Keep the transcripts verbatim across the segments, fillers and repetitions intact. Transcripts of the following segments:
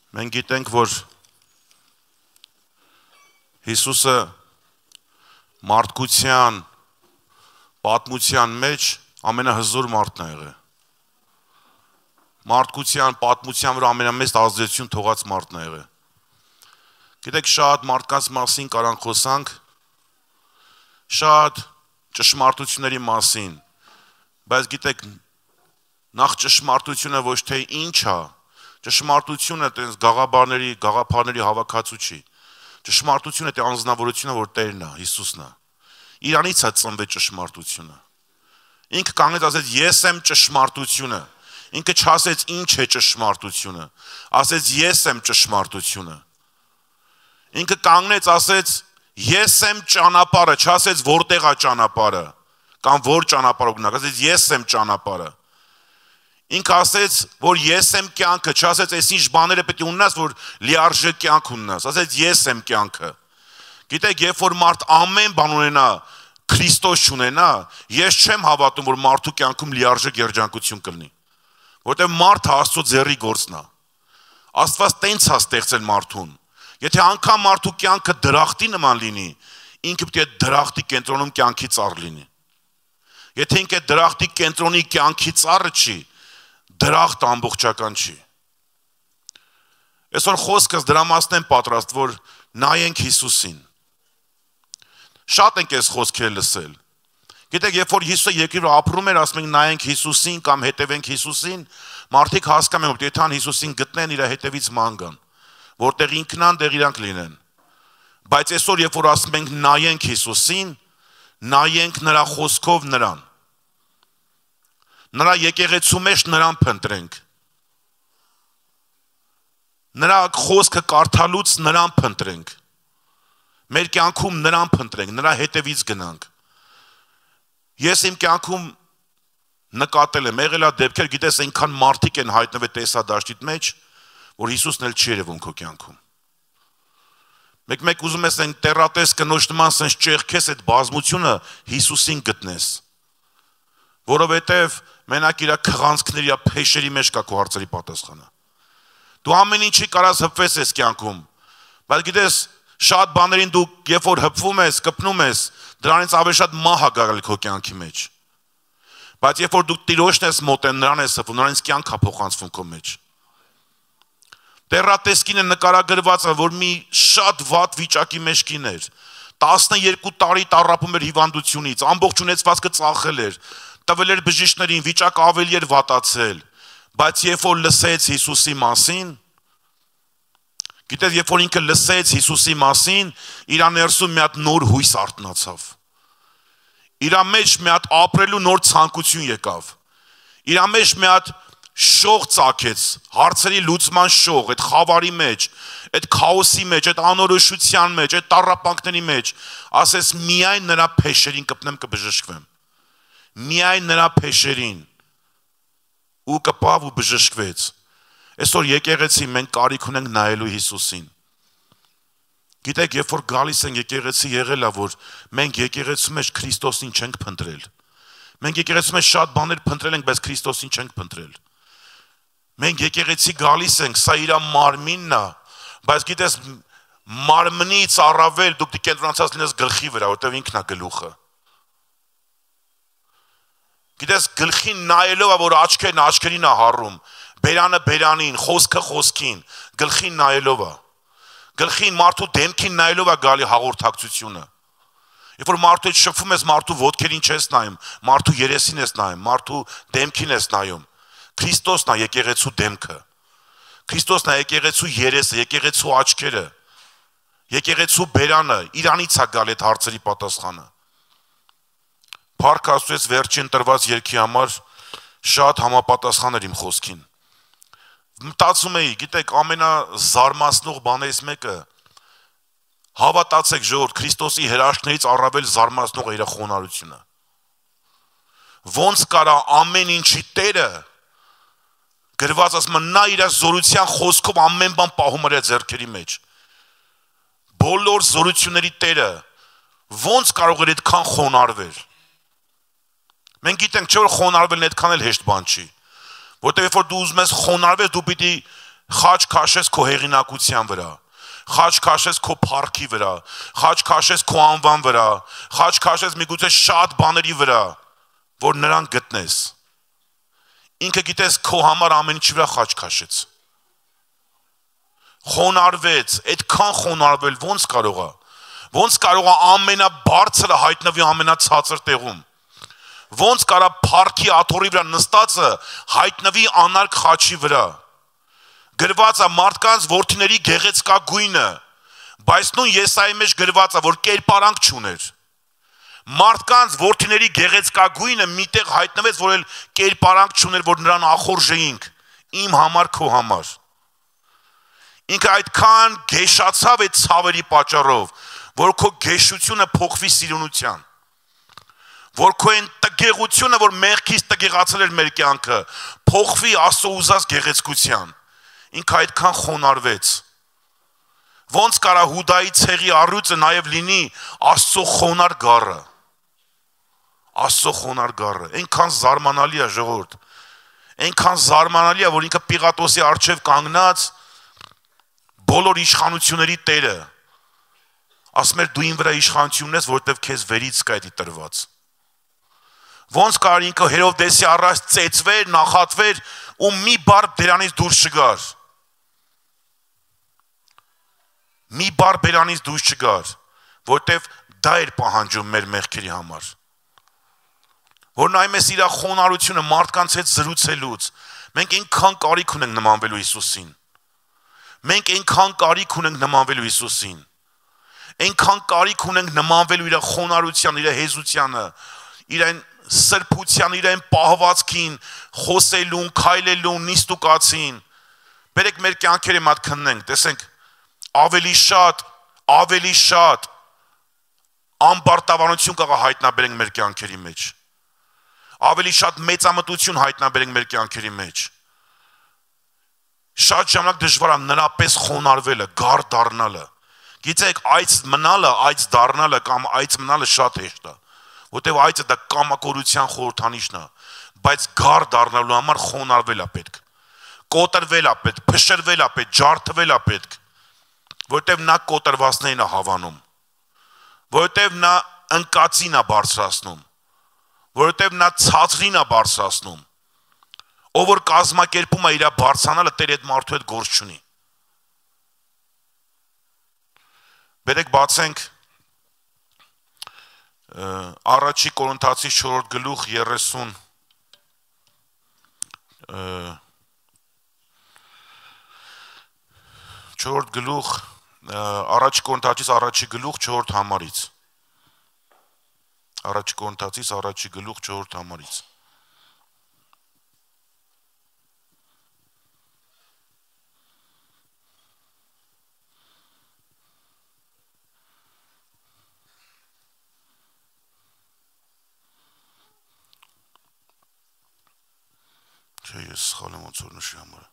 Մենք գիտենք, որ Հիսուսը մարդկության պատմության մեջ ամենահզոր մարդն է եղել։ Մարդկության պատմության վրա ամենամեծ ազդեցություն թողած մարդն է եղել։ Գիտեք, շատ մարդկանց մասին կարան խոսանք, շատ ճշմարտությունների մասին, բայց գիտեք, նախ ճշմարտությունը ոչ թե ինչ է, ճշմարտությունը տենց գաղաբարների, գաղափարների հավաքածու չի։ Ճշմարտությունը թե անձնավորությունը, որ Տերն է, Հիսուսն է։ Իրանից է ծնվել ճշմարտությունը։ Ինքը կանգնեց ասեց ես եմ ճշմարտությունը։ Ինքը չասեց ինչ է ճշմարտությունը, ասեց ես եմ ճշմարտությունը։ Ինքը կանգնեց ասեց ես եմ ճանապարհը, չասեց որտեղ է ճանապարհը, կամ որ ճանապարհ գնաք, ասեց ես եմ ճանապարհը։ Ինքը ասեց, որ ես եմ կյանքը, չասեց այս ինչ բաները պետք է ունենաս, որ լիարժեք կյանք ունենաս, ասեց ես եմ կյանքը։ Գիտեք, երբ որ մարդ ամեն բան ունենա, Քրիստոս չունենա, ես չեմ հավատում, որ մարդու կյանքում լիարժեք երջանկություն կլինի, որտեղ մարդը Աստծո ձեռի գործն է։ Աստված տենց է ստեղծել մարդուն։ Եթե անգամ մարդու կյանքը դրախտի նման լինի, ինքը պետք է դրախտի կենտրոնում կյանքի ծառ լինի։ Եթե ինքը դրախտի կենտրոնի կյանքի ծառը չի, դրախտ ամբողջական չի։ Այսօր խոսքս դրա մասն եմ պատրաստ, որ նայենք Հիսուսին։ Շատ ենք այս խոսքերը լսել։ Գիտեք, երբ որ Հիսուսը երկրի ապրում էր, ասում ենք նայենք Հիսուսին կամ հետևենք Հիսուսին, մարդիկ հասկանում են, որ եթե ան Հիսուսին գտնեն, իր հետևից ման գան, որտեղ ինքն ան, դեղ իրանք լինեն։ Բայց այսօր երբ որ ասում ենք նայենք Հիսուսին, նայենք նրա խոսքով նրան։ Նրա եկեղեցու մեջ նրան փնտրենք։ Նրա խոսքը կարդալուց նրան փնտրենք։ Մեր կյանքում նրան փնտրենք, նրա հետևից գնանք։ Ես իմ կյանքում նկատել եմ, եղել է դեպքեր, գիտես, այնքան մարդիկ են հայտնվել տեսադաշտիտ մեջ, որ Հիսուսն էլ չի երևում քո կյանքում։ Մեկ-մեկ ուզում ես այն տեռատես կնոջ նման սենց ճեղքես այդ բազմությունը Հիսուսին գտնես, որովհետև մենակ իր քղանցքների, իր փեշերի մեջ կա քո հարցերի պատասխանը։ Դու ամեն ինչի կարաս հպվես ես կյանքում, բայց գիտես, շատ բաներին դու երբ որ հպվում ես, կպնում ես, դրանից ավելի շատ մահ է գալի քո կյանքի մեջ։ Բայց երբ որ դու Տիրոջն ես մոտեն, նրան ես հպվում, նրանից կյանք է փոխանցվում քո մեջ։ Տեռատեսկինը նկարագրված է, որ մի շատ վատ վիճակի մեջ կին էր, տասնեերկու տարի տառապում էր հիվանդությունից, ամբողջ ունեցվածքը ծախել էր, տվել էր բժիշկներին, վիճակը ավելի էր վատացել, բայց երբ որ լսեց Հիսուսի մասին, գիտես, երբ որ ինքը լսեց Հիսուսի մասին, իր ներսում մի հատ նոր հույս արթնացավ, իր մեջ մի հատ ապրելու նոր ցանկություն եկավ, իր մեջ մի հատ շող ծագեց, հարցերի լուծման շող, այդ խավարի մեջ, այդ քաոսի մեջ, այդ անորոշության մեջ, այդ տառապանքների մեջ, ասես միայն նրա փեշերին կպնեմ կբժշկվեմ, միայն նրա փեշերին, ու կպավ ու բժշկվեց։ Այսօր եկեղեցի մենք կարիք ունենք նայելու Հիսուսին։ Գիտեք, երբ որ գալիս են եկեղեցի եղել է, որ մենք եկեղեցու մեջ Քրիստոսին չենք փնտրել։ Մենք եկեղեցու մեջ շատ բաներ փնտրել ենք, բայց Քրիստոսին չենք փնտրել։ Մենք եկեղեցի գալիս ենք, սա իր մարմինն է, բայց գիտես, մարմնից առավել դուք դի կենտրոնացած լինես գլխի վրա, որտեղ ինքն է գլուխը։ Գիտես, գլխին նայելով է, որ աչքերն աչքերին է հառում, բերանը բերանին, խոսքը խոսքին, գլխին նայելով է։ Գլխին մարդու դեմքին նայելով է գալի հաղորդակցությունը։ Երբ որ մարդու հետ շփվում ես, մարդու ոտքերին չես նայում, մարդու երեսին ես նայում, մարդու դեմքին ես նայում։ Քրիստոսն է եկեղեցու դեմքը։ Քրիստոսն է եկեղեցու երեսը, եկեղեցու աչքերը, եկեղեցու բերանը, իրանից է գալ այդ հարցերի պատասխանը։ Փառք Աստծո, վերջին տրված երգի համար շատ համապատասխան էր իմ խոսքին։ Մտածում էի, գիտեք, ամենազարմացնող բաներից մեկը, հավատացեք ժողովուրդ, Քրիստոսի հրաշքներից առավել զարմացնող է իր խոնարհությունը։ Ոնց կարա ամեն ինչի Տերը գրված ասում նա իր զորության խոսքով ամեն բան պահում էր ձեռքերի մեջ։ Բոլոր զորությունների Տերը ոնց կարող էր այդքան խոնարհվել։ Մենք գիտենք չէ որ խոնարհվելն այդքան էլ հեշտ բան չի։ Որտեղ երբ որ դու ուզում ես խոնարհվել, դու պիտի Խաչ քաշես քո հեղինակության վրա, խաչ քաշես քո փառքի վրա, խաչ քաշես քո անվան վրա, խաչ քաշես միգուցե շատ բաների վրա, որ նրան գտնես։ Ինքը գիտես քո համար ամեն ինչի վրա խաչ քաշեց։ Խոնարհվեց, այդքան խոնարհվել ո՞նց կարող է։ Ոնց կարող է ամենաբարձրը հայտնվի ամենացածր տեղում։ Ոնց կարա փառքի աթոռի վրա նստածը հայտնվի անարգ խաչի վրա։ Գրված է մարդկանց որդիների գեղեցկագույնը, բայց նույն Եսայի մեջ գրված է, որ կերպարանք չուներ։ Մարդկանց որդիների գեղեցկագույնը միտեղ հայտնվեց, որ էլ կերպարանք չուներ, որ նրան ախորժեինք, իմ համար, քո համար։ Ինքը այդքան գեշացավ այդ ցավերի պատճառով, որ քո գեշությունը փոխվի սիրունության, որ քո այն տգեղությունը, որ մեղքից տգեղացել էր մեր կյանքը, փոխվի Աստծո ուզած գեղեցկության։ Ինքը այդքան խոնարհվեց։ Ոնց կարա Հուդայի ցեղի առյուծը նաև լինի Աստծո խոնար գառը։ Աստծո խոնար գառը, այնքան զարմանալի է ժողովուրդ։ Այնքան զարմանալի է, որ ինքը Պիղատոսի առջև կանգնած բոլոր իշխանությունների տերը ասում էր դու ին վրա իշխանություն ունես, որովհետև քեզ վերից կա դա տրված։ Ոնց կար ինքը Հերովդեսի առաջ ծեծվեր, նախատվեր ու մի բառ դրանից դուրս չգար։ Մի բառ բերանից դուրս չգար, որովհետև դա էր պահանջում մեր մեղքերի համար։ Որ նայում ես իր խոնարհությունը մարդկանց հետ զրուցելուց, մենք այնքան կարիք ունենք նմանվելու Հիսուսին։ Մենք այնքան կարիք ունենք նմանվելու Հիսուսին։ Այնքան կարիք ունենք նմանվելու իր խոնարհության, իր հեզությանը, իր այն սրբության, իր այն պահվածքին, խոսելուն, քայլելուն, նիստուկացին։ Բերեք մեր կյանքերը մատ քննենք, տեսենք ավելի շատ, ավելի շատ ամբարտավանություն կարող հայտնաբերենք մեր կյանքերի մեջ։ Ավելի շատ մեծամտություն հայտնաբերենք մեր կյանքերի մեջ։ Շատ ժամանակ դժվար է նրապես խոնարհվելը, գառ դառնալը։ Գիտեք, այց մնալը, այց դառնալը կամ այց մնալը շատ հեշտ է, որտեղ այցը դա կամակորության խորհրդանիշն է, բայց գառ դառնալու համար խոնարհվել է պետք։ Կոտրվել է պետք, փշրվել է պետք, ջարդվել է պետք, որտեղ նա կոտրվածներին է հավանում, որտեղ նա ընկածին է բարձրացնում, որտեղ նա ցածրին է բարձրացնում, ով որ կազմակերպում է իր բարձրանալը, Տեր այդ մարդու հետ գործ չունի։ Բերեք բացենք առաջի Կորինթացի չորրորդ գլուխ երեսուն չորրորդ գլուխ առաջի Կորինթացից առաջի գլուխ չորրորդ համարից առաջի Կորինթացից առաջի գլուխ չորրորդ համարից Չէ, ես սխալ եմ ոնց որ նշի համարը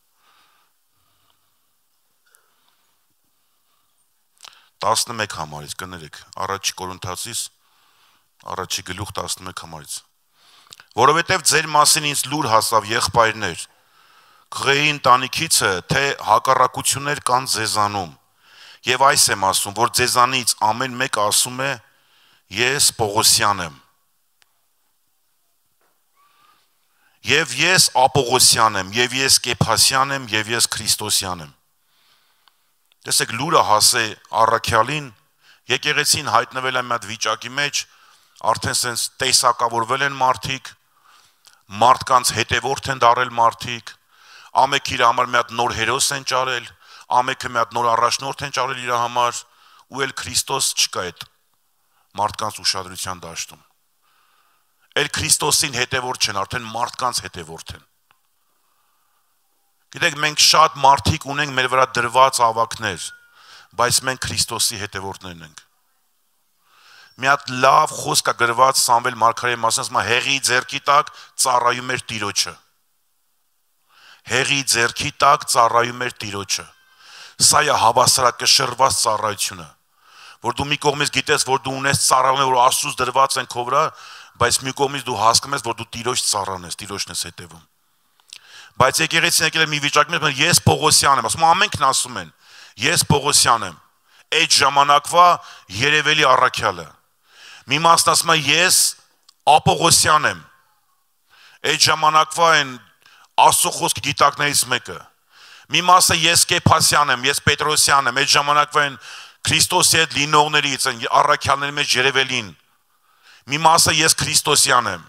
տասնմեկ համարից կներեք առաջի Կորինթացից առաջի գլուխ տասնմեկ համարից որովհետև ձեր մասին ինձ լուր հասավ եղբայրներ քղեի ընտանիքիցը թե հակառակություններ կան ձեզանում եւ այս եմ ասում որ ձեզանից ամեն մեկ ասում է ես Պողոսյան եմ Եվ ես Ապողոսյան եմ, եւ ես Կեփասյան եմ, եւ ես Քրիստոսյան եմ։ Տեսեք լուրը հասե առաքյալին, եկեղեցին հայտնվել է մի հատ վիճակի մեջ, արդեն sense տեսակավորվել են մարդիկ, մարդկանց հետևորդ են դարել մարդիկ, ամեքը իր համար մի հատ նոր հերոս են ճարել, ամեքը մի հատ նոր առաջնորդ են ճարել իր համար, ու էլ Քրիստոս չկա այդ մարդկանց ուշադրության դաշտում։ Էլ Քրիստոսին հետևորդ չեն, արդեն մարդկանց հետևորդ են։ Գիտեք, մենք շատ մարդիկ ունենք մեր վրա դրված ավակներ, բայց մենք Քրիստոսի հետևորդներն ենք։ Մի հատ լավ խոսք է գրված Սամվել մարգարեի մասին, ասում է հեղի ձեռքի տակ ծառայում էր Տիրոջը։ Հեղի ձեռքի տակ ծառայում էր Տիրոջը։ Սա է հավասարակշռված ծառայությունը, որ դու մի կողմից գիտես, որ դու ունես ծառայողներ, որ Աստծուց դրված են քո վրա, բայց մի կողմից դու հասկանում ես, որ դու Տիրոջ ծառան ես, Տիրոջն ես հետևում։ Բայց եկեղեցին եկել է մի վիճակի մեջ, ես Պողոսյան եմ, ասում ամենքն ասում են, ես Պողոսյան եմ, այդ ժամանակվա Երևելի առաքյալը։ Մի մասն ասում է ես Ապողոսյան եմ, այդ ժամանակվա այն Աստծո խոսք գիտակներից մեկը։ Մի մասը ես Կեփասյան եմ, ես Պետրոսյան եմ, այդ ժամանակվա այն Քրիստոսի հետ լինողներից, այն առաքյալների մեջ Երևելին։ Մի մասը ես Քրիստոսյան եմ։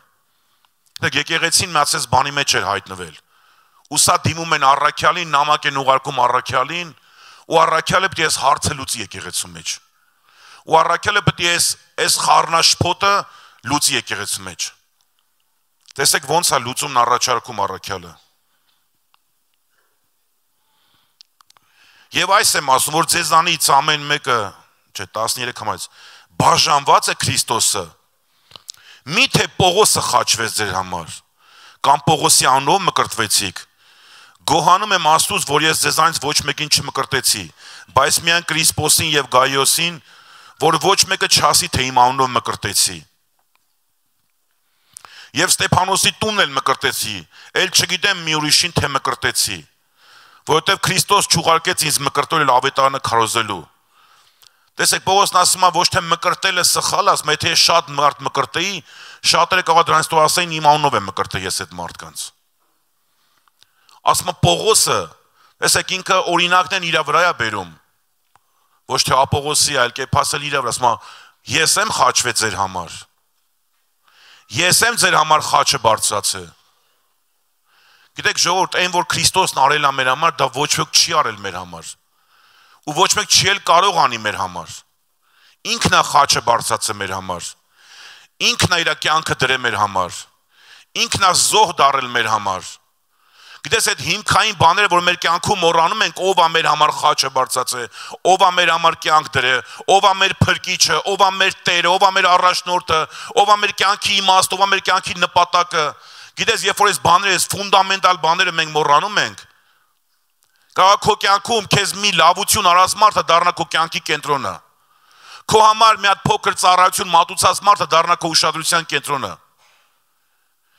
Դե եկեղեցին մացես բանի մեջ էր հայտնվել։ Ու սա դիմում են առաքյալին, նամակ են ուղարկում առաքյալին, ու առաքյալը պետք է այս հարցը լուծի եկեղեցու մեջ։ Ու առաքյալը պետք է այս այս խառնաշփոթը լուծի եկեղեցու մեջ։ Տեսեք ոնց է լուծումն առաջարկում առաքյալը։ Եվ այս եմ ասում, որ ձեզանից ամեն մեկը, չէ, տասներեք համարից, բաժանված է Քրիստոսը։ Միթե Պողոսը խաչվեց ձեր համար, կամ Պողոսի անունով մկրտվեցիք։ Գոհանում եմ Աստծուց, որ ես ձեզանից ոչ մեկին չմկրտեցի, բայց միայն Կրիսպոսին եւ Գայոսին, որ ոչ մեկը չասի, թե իմ անունով մկրտեցի։ Եվ Ստեփանոսի տունն էլ մկրտեցի, ել չգիտեմ մի ուրիշին թե մկրտեցի, որովհետև Քրիստոս չուղարկեց ինձ մկրտել ավետարանը քարոզելու։ Տեսեք, Պողոսն ասում է ոչ թե մկրտելը սխալ, ասում է, եթե շատ մարդ մկրտեի, շատերը կարող դրանից տո ասեին իմ անունով եմ մկրտել ես այդ մարդկանց։ Ասում է Պողոսը, տեսեք ինքը օրինակն են իր վրա է բերում։ Ոչ թե Ապողոսի, այլ Կեփասը իր վրա, ասում է, ես եմ խաչվել ձեր համար։ Ես եմ ձեր համար խաչը բարձրացել։ Գիտեք, ժողովուրդ, այն որ Քրիստոսն արել է մեր համար, դա ոչ ոք չի արել մեր համար։ Ու ոչ մեկ չի էլ կարող անի մեր համար։ Ինքն է խաչը բարձրացել մեր համար։ Ինքն է իր կյանքը դրել մեր համար։ Ինքն է զոհ դարել մեր համար։ Գիտես, այդ հիմքային բաները, որ մեր կյանքում մոռանում ենք, ով է մեր համար խաչը բարձրացել, ով է մեր համար կյանք դրել, ով է մեր փրկիչը, ով է մեր Տերը, ով է մեր առաջնորդը, ով է մեր կյանքի իմաստը, ով է մեր կյանքի նպատակը։ Գիտես, երբ որ այս բաները, այս ֆունդամենտալ բաները մենք մոռանում ենք, կարող քո կյանքում քեզ մի լավություն արած մարդը դառնա քո կյանքի կենտրոնը։ Քո համար մի հատ փոքր ծառայություն մատուցած մարդը դառնա քո ուշադրության կենտրոնը։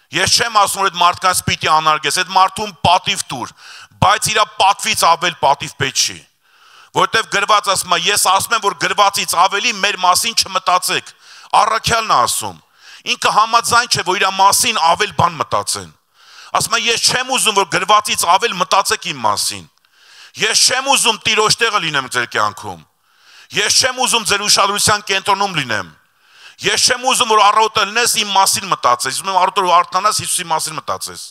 Ես չեմ ասում, որ այդ մարդկանց պիտի անարգես, այդ մարդուն պատիվ տուր, բայց իր պատվից ավել պատիվ պետք չի։ Որտեվ գրված ասում է, ես ասում եմ, որ գրվածից ավելի մեր մասին չմտածեք։ Առաքյալն է ասում։ Ինքը համաձայն չէ, որ իր մասին ավել բան մտածեն։ Ասում է, ես չեմ ուզում, որ գրվածից ավել մտածեք իմ մասին։ Ես չեմ ուզում Տիրոջ տեղը լինեմ ձեր կյանքում։ Ես չեմ ուզում ձեր ուշադրության կենտրոնում լինեմ։ Ես չեմ ուզում, որ առավոտը լինես իմ մասին մտածես, ուզում եմ առավոտը որ արթնանաս Հիսուսի մասին մտածես։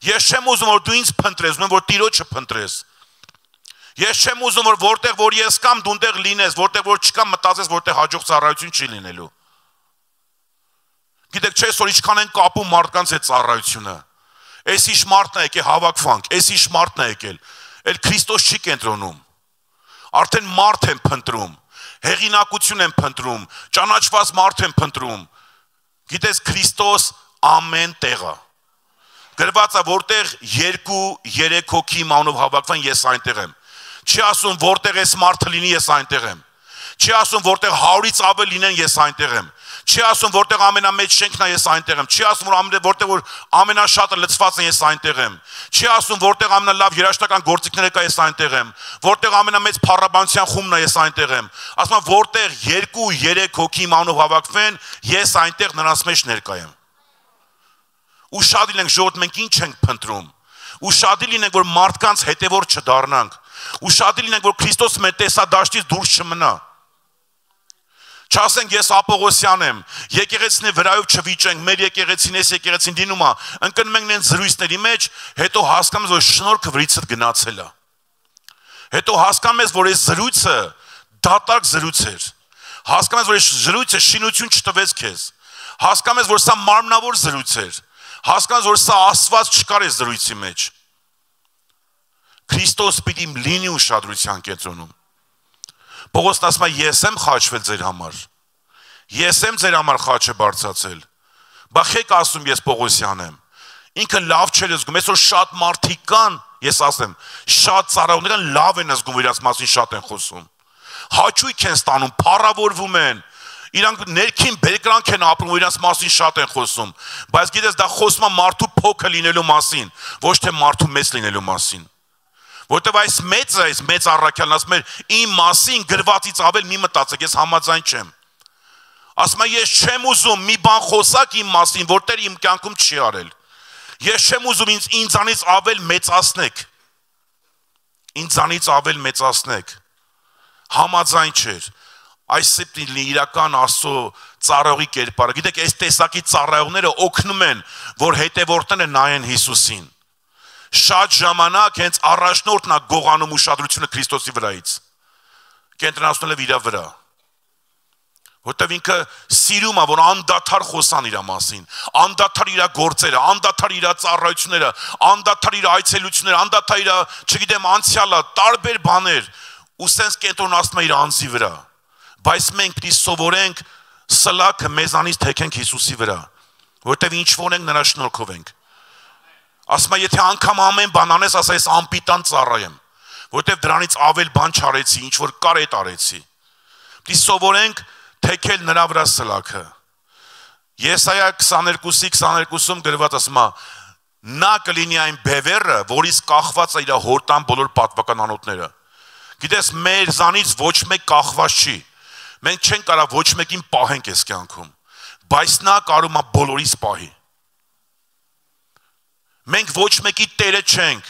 Ես չեմ ուզում, որ դու ինձ փնտրես, ուզում եմ, որ Տիրոջը փնտրես։ Ես չեմ ուզում, որ որտեղ որ ես կամ դու այնտեղ լինես, որտեղ որ չկա մտածես, որտեղ հաջող ծառայություն չի լինելու։ Գիտեք, չէ՞ որ ինչքան են կապում մարդկանց այդ ծառայությունը։ Այս իշ մարդն է եկել հավաքվանք, այս իշ մարդն է եկել։ Էլ Քրիստոս չի կենտրոնում։ Արդեն մարդ են փնտրում, հեղինակություն են փնտրում, ճանաչված մարդ են փնտրում։ Գիտես, Քրիստոս ամեն տեղ է։ Գրված է, որտեղ երկու, երեք հոգի իմ անունով հավաքվեն, ես այնտեղ եմ։ Չի ասում, որտեղ այս մարդը լինի, ես այնտեղ եմ։ Չի ասում, որտեղ հարյուրից ավել լինեն, ես այնտեղ եմ։ Չի ասում, որտեղ ամենամեծ շենքն է, ես այնտեղ եմ։ Չի ասում, որ որտեղ որ ամենաշատը լցված են, ես այնտեղ եմ։ Չի ասում, որտեղ ամենալավ երաժշտական գործիքները կա, ես այնտեղ եմ։ Որտեղ ամենամեծ փառաբանության խումբն է, ես այնտեղ եմ։ Ասում եմ, որտեղ երկու, երեք հոգի իմ անունով հավաքվեն, ես այնտեղ նրանց մեջ ներկա եմ։ Ուշադիր ենք, ժողովուրդ, մենք ինչ ենք փնտրում։ Ուշադիր լինենք, որ մարդկանց հետևորդ չդառնանք։ Ուշադիր լինենք, որ Քրիստոս մեր տեսադաշտից դուրս չմնա։ Չասենք ես Ապողոսյան եմ, եկեղեցին վրայով չվիճենք, մեր եկեղեցին էս եկեղեցին դինում է, ընկնում ենք նենց զրույցների մեջ, հետո հասկանում ես, որ շնորհքը վրիցդ գնացել է։ Հետո հասկանում ես, որ այս զրույցը դատարկ զրույց էր։ Հասկանում ես, որ այս զրույցը շինություն չտվեց քեզ։ Հասկանում ես, որ սա մարմնավոր զրույց էր։ Հասկանում ես, որ սա Աստված չկար այս զրույցի մեջ։ Քրիստոս պիտի լինի ուշադրության կենտրոնում։ Պողոսն ասում է, ես եմ խաչվել ձեր համար։ Ես եմ ձեր համար խաչը բարձրացել։ Բա խեք ասում ես Պողոսյան եմ։ Ինքը լավ չէր զգում, այսօր շատ մարդիկ կան, ես ասեմ, շատ ծառայողներ լավ են զգում, իրաց մասին շատ են խոսում։ Հաճույք են ստանում, փառավորվում են, Իրանք ներքին բերկրանք են ապրում, որ իրանց մասին շատ են խոսում, բայց գիտես դա խոսում է մարդու փոքր լինելու մասին, ոչ թե մարդու մեծ լինելու մասին։ Որտեւ այս մեծը, այս մեծ առաքյալն ասում է, իմ մասին գրվածից ավել մի մտածեք, ես համաձայն չեմ։ Ասում է, ես չեմ ուզում մի բան խոսակ իմ մասին, որ Տերը իմ կյանքում չի արել։ Ես չեմ ուզում ինձ ինձանից ավել մեծացնեք։ Ինձանից ավել մեծացնեք։ Համաձայն չէր։ Այս սեպտիլի իրական Աստծո ծառայողի կերպարը։ Գիտեք, այս տեսակի ծառայողները օգնում են, որ հետևորդները նայեն Հիսուսին։ Շատ ժամանակ հենց առաջնորդն է գողանում ուշադրությունը Քրիստոսի վրայից։ Կենտրոնացնել է իր վրա։ Որտեւ ինքը սիրում է, որ անդադար խոսան իր մասին, անդադար իր գործերը, անդադար իր ծառայությունները, անդադար իր այցելությունները, անդադար իր, չգիտեմ, անցյալը, տարբեր բաներ, ու սենց կենտրոնացնում է իր անձի վրա։ Բայց մենք պիտի սովորենք սլաքը մեզանից թեքենք Հիսուսի վրա, որտեւ ինչ որ ենք նրա շնորհքով ենք։ Ասում է, եթե անգամ ամեն բան անես, ասա ես անպիտան ծառայեմ, որտեւ դրանից ավել բան չարեցի, ինչ որ կար էդ արեցի։ Պիտի սովորենք թեքել նրա վրա սլաքը։ Եսայա քսաներկուսի քսաներկուսում գրված ասում է, նա կլինի այն բևեռը, որից կախված է իր հորտան բոլոր պատվական անոթները։ Գիտես, մեր զանից ոչ մեկ կախված չի։ Մենք չենք կարող ոչ մեկին պահենք այս կյանքում, բայց նա կարող է բոլորիս պահի։ Մենք ոչ մեկի տերը չենք,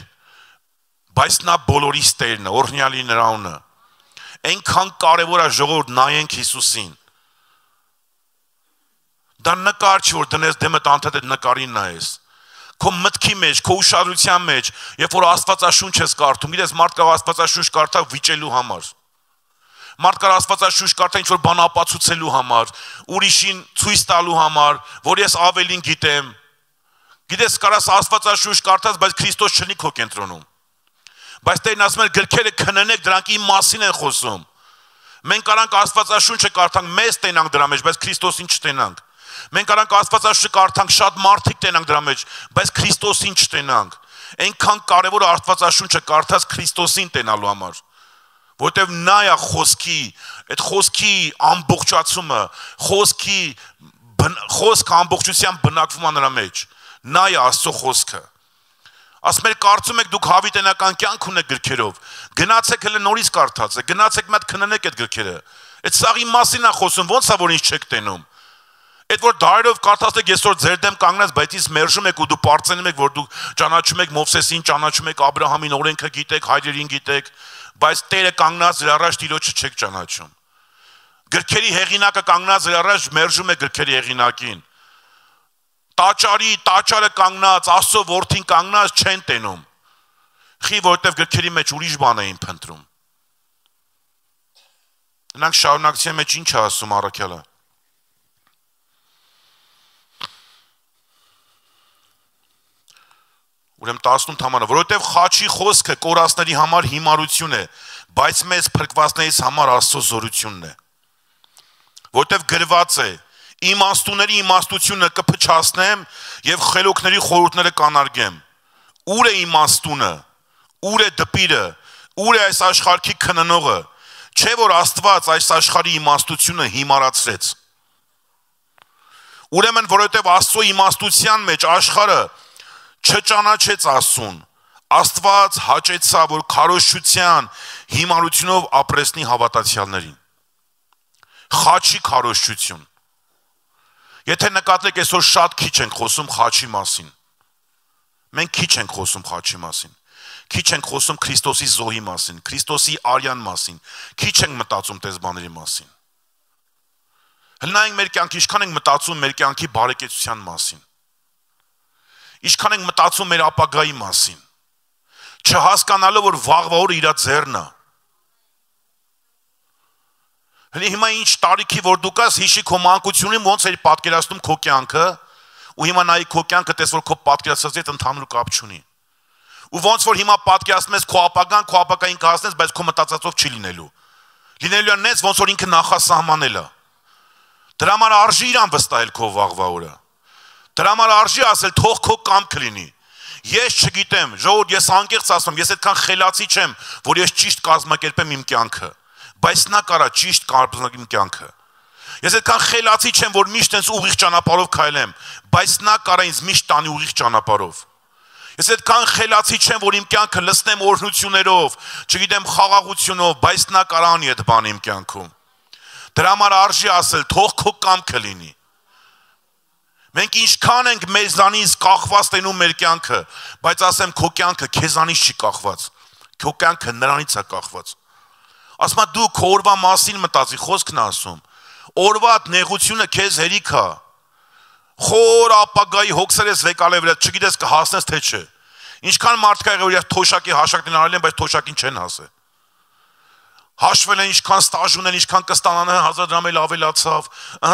բայց նա բոլորիս տերն է, օրհնյալի նրա անունը։ Այնքան կարևոր է ժողովուրդ նայենք Հիսուսին։ Դա նկար չի, որ դնես դեմդ անդադ այդ նկարին նայես։ Քո մտքի մեջ, քո ուշադրության մեջ, երբ որ Աստվածաշունչ ես կարդում, իրես մարդ կարող Աստվածաշունչ կարդա վիճելու համար։ Մարդ կարող Աստվածաշունչ կարդա ինչ որ բան ապացուցելու համար, ուրիշին ցույց տալու համար, որ ես ավելին գիտեմ։ Գիտես, կարաս Աստվածաշունչ կարդաս, բայց Քրիստոս չնի քո կենտրոնում։ Բայց Տերն ասում է, գրքերը քննեք, դրանք իմ մասին են խոսում։ Մենք կարանք Աստվածաշունչը կարդանք, մեզ տենանք դրա մեջ, բայց Քրիստոսին չտենանք։ Մենք կարանք Աստվածաշունչը կարդանք, շատ մարդիկ տենանք դրա մեջ, բայց Քրիստոսին չտենանք։ Այնքան կարևոր է Աստվածաշունչը կարդաս Քրիստոսին տենալու համար, որտեվ նա է խոսքի, այդ խոսքի ամբողջացումը, խոսքի խոսքը ամբողջության բնակվում է նրա մեջ։ Նա է Աստծո խոսքը։ Ասում եք, կարծում եք դուք հավիտենական կյանք ունեք գրքերով, գնացեք հələ նորից կարդացեք, գնացեք մատ քննեք այդ գրքերը։ Այդ սաղի մասին է խոսում, ո՞նց է որ ինչ չեք տենում։ Այդ որ դարերով կարդացել եք այսօր ձեր դեմ կանգնած, բայց իսկ մերժում եք ու դու պարծենում եք, որ դուք ճանաչում եք Մովսեսին, ճանաչում եք Աբրահամին, օրենքը գիտեք, հայրերին գիտեք, բայց Տերը կանգնած իր առաջ Տիրոջը չեք ճանաչում։ Գրքերի հեղինակը կանգնած իր առաջ մերժում է գրքերի հեղինակին։ Տաճարի, տաճարը կանգնած, Աստծո որդին կանգնած չեն տենում։ Խի որտեվ գրքերի մեջ ուրիշ բան էին փնտրում։ Նրանք շարունակության մեջ ինչ է ասում առաքյալը։ Ուրեմն տասնութ համարը, որովհետև խաչի խոսքը կորածների համար հիմարություն է, բայց մեզ փրկվածներից համար Աստծո զորությունն է։ Որովհետև գրված է. իմաստուների իմաստությունը կփչացնեմ եւ խելոքների խորհուրդները կանարգեմ։ Ուր է իմաստունը, ուր է դպիրը, ուր է այս աշխարհի քննողը, չէ որ Աստված այս աշխարհի իմաստությունը հիմարացրեց։ Ուրեմն որովհետև Աստծո իմաստության մեջ աշխարհը չճանաչեց Աստծուն, Աստված հաճեցա, որ քարոզչության հիմարությունով ապրեսնի հավատացյալներին։ Խաչի քարոզչություն։ Եթե նկատեք, այսօր շատ քիչ ենք խոսում խաչի մասին։ Մենք քիչ ենք խոսում խաչի մասին։ Քիչ ենք խոսում Քրիստոսի զոհի մասին, Քրիստոսի արյան մասին։ Քիչ ենք մտածում տես բաների մասին։ Հլնայինք մեր կյանքի, ինչքան ենք մտածում մեր կյանքի բարեկեցության մասին։ Ինչքան ենք մտածում մեր ապագայի մասին, չհասկանալով որ վաղվա օրը իր ձեռն է։ Հենց հիմա ինչ տարիքի որ դու կաս հիշի քո մանկությունին ոնց էր պատկերացնում քո կյանքը, ու հիմա նայի քո կյանքը տես որ քո պատկերացած հետ ընդհանուր կապ չունի։ Ու ոնց որ հիմա պատկերացնում ես քո ապագան, քո ապագային կհասնես, բայց քո մտածածով չի լինելու։ Լինելու է նենց ոնց որ ինքը նախասահմանել է։ Դրա համար արժի իրան վստահել քո վաղվա օրը։ Դրա համար արժի ասել թող քո կամքը լինի։ Ես չգիտեմ, ժողովուրդ, ես անկեղծ ասում, ես այդքան խելացի չեմ, որ ես ճիշտ կազմակերպեմ իմ կյանքը, բայց նա կարա ճիշտ կազմակերպեմ իմ կյանքը։ Ես այդքան խելացի չեմ, որ միշտ այնց ուղիղ ճանապարհով քայլեմ, բայց նա կարա ինձ միշտ տանի ուղիղ ճանապարհով։ Ես այդքան խելացի չեմ, որ իմ կյանքը լցնեմ օրհնություններով, չգիտեմ խաղաղությունով, բայց նա կարա անի այդ բանը իմ կյանքում։ Դրա համար արժի ասել, թող քո կամքը լինի։ Մենք ինչքան ենք մեզանից կախված տենում մեր կյանքը, բայց ասեմ քո կյանքը քեզանից չի կախված։ Քո կյանքը նրանից է կախված։ Ասում եմ դու քո օրվա մասին մտածի, խոսքն ասում։ Օրվա նեղությունը քեզ հերիք է։ Խոր ապագայի հոգսեր ես վեկալե վրա, չգիտես կհասնես թե չէ։ Ինչքան մարդ կա եղել, որ թոշակի հաշակն արել են, բայց թոշակին չեն հասել։ Հաշվել են ինչքան ստաժ ունեն, ինչքան կստանան, հազար դրամ էլ ավելացավ,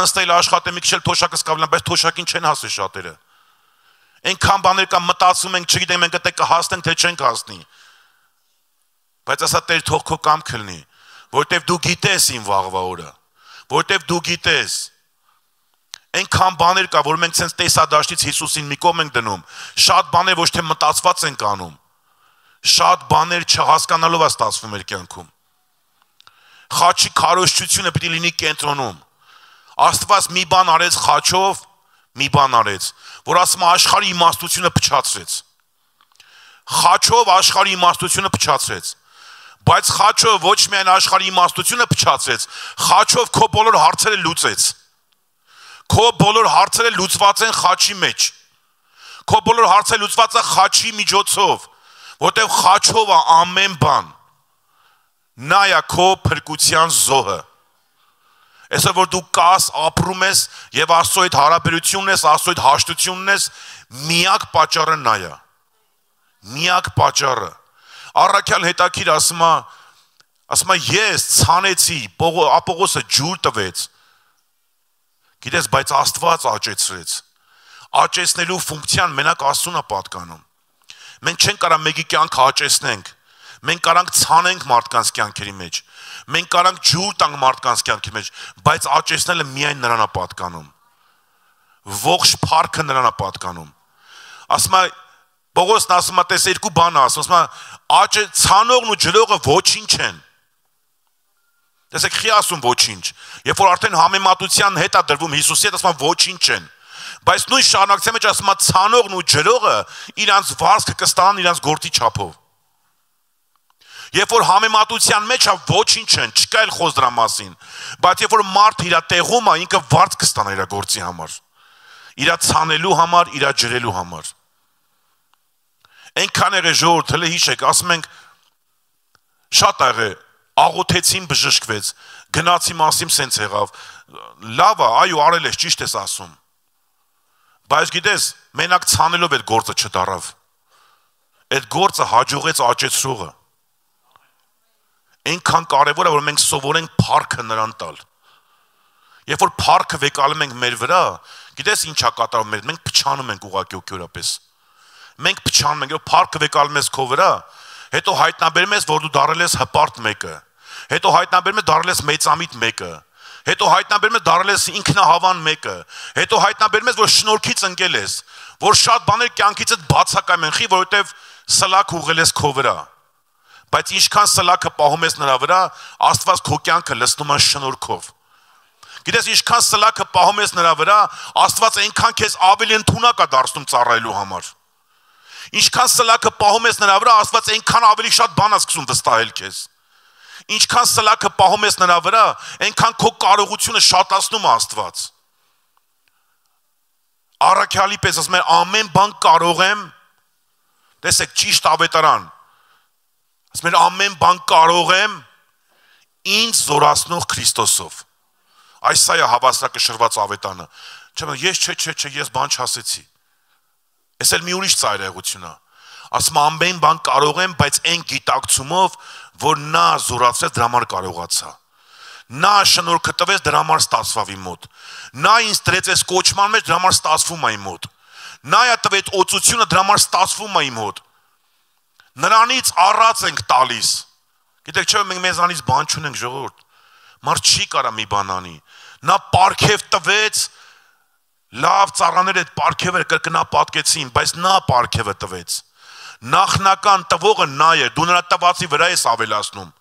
հստել աշխատեմ մի քիչ էլ թոշակը սկավլան, բայց թոշակին չեն հասել շատերը։ Այնքան բաներ կա մտածում ենք, չգիտենք մենք դե կհասնենք թե չենք հասնի։ Բայց ասա Տեր թող քո կամքը լինի, որտեվ դու գիտես իմ վաղվա օրը, որտեվ դու գիտես։ Այնքան բաներ կա, որ մենք ցենց տեսադաշտից Հիսուսին մի կողմ ենք դնում, շատ բաներ ոչ թե մտածված ենք անում, շատ բաներ չհասկանալով է ստացվում մեր կյանքում։ Խաչի քարոզչությունը պիտի լինի կենտրոնում։ Աստված մի բան արեց խաչով, մի բան արեց, որ ասում է աշխարհի իմաստությունը փչացրեց։ Խաչով աշխարհի իմաստությունը փչացրեց։ Բայց խաչով ոչ միայն աշխարհի իմաստությունը փչացրեց, խաչով քո բոլոր հարցերը լուծեց։ Քո բոլոր հարցերը լուծված են խաչի մեջ։ Քո բոլոր հարցերը լուծված է խաչի միջոցով, որտեղ խաչով է ամեն բան։ Նա է քո փրկության զոհը։ Այսօր որ դու կաս, ապրում ես եւ Աստծո հետ հարաբերությունն ես, Աստծո հետ հաշտությունն ես, միակ պատճառը նա է։ Միակ պատճառը։ Առաքյալ հետաքրիր ասում է, ասում է ես ցանեցի, Ապողոսը ջուր տվեց։ Գիտես, բայց Աստված աճեցրեց։ Աճեցնելու ֆունկցիան մենակ Աստծուն է պատկանում։ Մենք չենք կարող մեկի կյանքը աճեցնենք։ Մենք կարանք ցանենք մարդկանց կյանքերի մեջ։ Մենք կարանք ջուր տանք մարդկանց կյանքի մեջ, բայց աճեցնելը միայն նրան է պատկանում։ Ողջ փառքը նրան է պատկանում։ Ասում է Պողոսն ասում է, տես երկու բան ասում, ասում է աճը ցանողն ու ջրողը ոչինչ են։ Տեսեք, խի ասում ոչինչ։ Երբ որ արդեն համեմատության հետ է դրվում Հիսուսի հետ, ասում է ոչինչ են։ Բայց նույն շարունակության մեջ ասում է ցանողն ու ջրողը իրանց վարձքը կստանան իրանց գործի չափով։ Երբ որ համեմատության մեջ է ոչինչ են, չկա էլ խոս դրա մասին, բայց երբ որ մարդ իր տեղում է, ինքը վարձ կստանա իր գործի համար, իր ցանելու համար, իր ջրելու համար։ Այնքան եղե ժողովուրդ, հələ հիշեք, ասում ենք շատ եղե, աղոթեցին բժշկվեց, գնացի մասիմ սենց եղավ, լավ է, այո, արել ես, ճիշտ ես ասում։ Բայց գիտես, մենակ ցանելով այդ գործը չդարավ։ Այդ գործը հաջողեց աճեցրողը։ Այնքան կարևոր է, որ մենք սովորենք փառքը նրան տալ։ Երբ որ փառքը վեկալում ենք մեր վրա, գիտես ինչ է կատարվում մեր, մենք փչանում ենք ուղղակի օկյորապես։ Մենք փչանում ենք, երբ փառքը վեկալում ես քո վրա, հետո հայտնաբերում ես, որ դու դառել ես հպարտ մեկը, հետո հայտնաբերում ես դառել ես մեծամիտ մեկը, հետո հայտնաբերում ես դառել ես ինքնահավան մեկը, հետո հայտնաբերում ես, որ շնորհքից ընկել ես, որ շատ բաներ կյանքիցդ բացակայում են, խի, որովհետև սլաք ուղղել ես քո վրա։ Բայց ինչքան սլաքը պահում ես նրա վրա, Աստված քո կյանքը լցնում է շնորհքով։ Գիտես, ինչքան սլաքը պահում ես նրա վրա, Աստված այնքան քեզ ավելի ընդունակ է դարձնում ծառայելու համար։ Ինչքան սլաքը պահում ես նրա վրա, Աստված այնքան ավելի շատ բան է սկսում վստահել քեզ։ Ինչքան սլաքը պահում ես նրա վրա, այնքան քո կարողությունը շատացնում է Աստված։ Առաքյալի պես ասում է, ամեն բան կարող եմ, տեսեք, ճիշտ ավետարան, ասում է, ամեն բան կարող եմ ինձ զորացնող Քրիստոսով։ Այս սա է հավասարակշռված ավետանը։ Չեմ, ես չէ, չէ, չէ, ես բան չասեցի։ Ես էլ մի ուրիշ ծայրահեղություն է։ Ասում է, ամեն բան կարող եմ, բայց այն գիտակցումով, որ նա զորացրեց, դրա համար կարողացա։ Նա շնորհքը տվեց, դրա համար ստացվավ իմ մոտ։ Նա ինձ դրեց այս կոչման մեջ, դրա համար ստացվում է իմ մոտ։ Նա է տվեց օծությունը, դրա համար ստացվում է իմ մոտ։ Նրանից առած ենք տալիս։ Գիտեք, չէ՞ մենք մեզանից բան չունենք, ժողովուրդ։ Մարդ չի կարա մի բան անի։ Նա պարգև տվեց, լավ ծառաներ այդ պարգևը կրկնապատկեցին, բայց նա պարգևը տվեց։ Նախնական տվողը նա է, դու նրա տվածի վրա ես ավելացնում։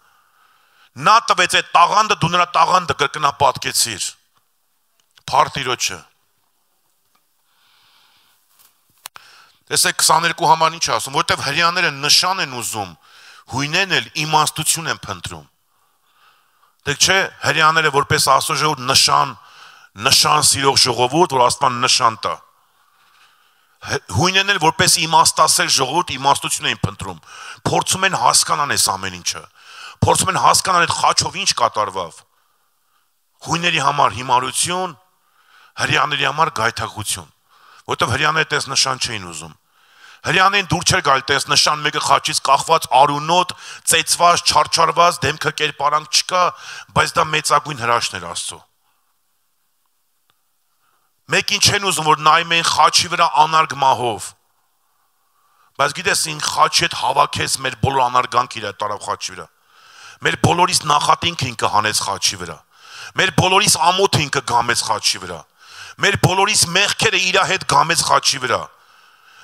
Նա տվեց այդ տաղանդը, դու նրա տաղանդը կրկնապատկեցիր։ Փարթիրոջը։ Տեսեք քսաներկու համար ինչ ասում, որտեվ հрьяաները նշան են ուզում, հույնեն էլ իմաստություն են փնտրում։ Դեք չէ, հрьяաները որպես Աստծո ժողովուրդ նշան, նշան սիրող ժողովուրդ, որ Աստված նշան տա։ Հույնեն էլ որպես իմաստասեր ժողովուրդ իմաստություն են փնտրում։ Փորձում են հասկանան այս ամեն ինչը։ Փորձում են հասկանան այդ խաչով ինչ կատարվավ։ Հույների համար հիմարություն, հрьяաների համար գայթակղություն, որտեղ հрьяաները տես նշան չէին ուզում։ Հрьяաներին դուր չէր գալ տես նշան մեկը խաչից կախված արունոտ, ծեծված, չարչարված, դեմքը կերպարանք չկա, բայց դա մեծագույն հրաշքն էր Աստծո։ Մեկին չեն ուզում որ նայում են խաչի վրա անարգ մահով։ Բայց գիտես ին խաչի հետ հավաքես մեր բոլոր անարգանք իր տարավ խաչի վրա։ Մեր բոլորիս նախատինքը ինքը հանեց խաչի վրա։ Մեր բոլորիս ամոթը ինքը գամեց խաչի վրա։ Մեր բոլորիս մեղքերը իր հետ գամեց խաչի վրա։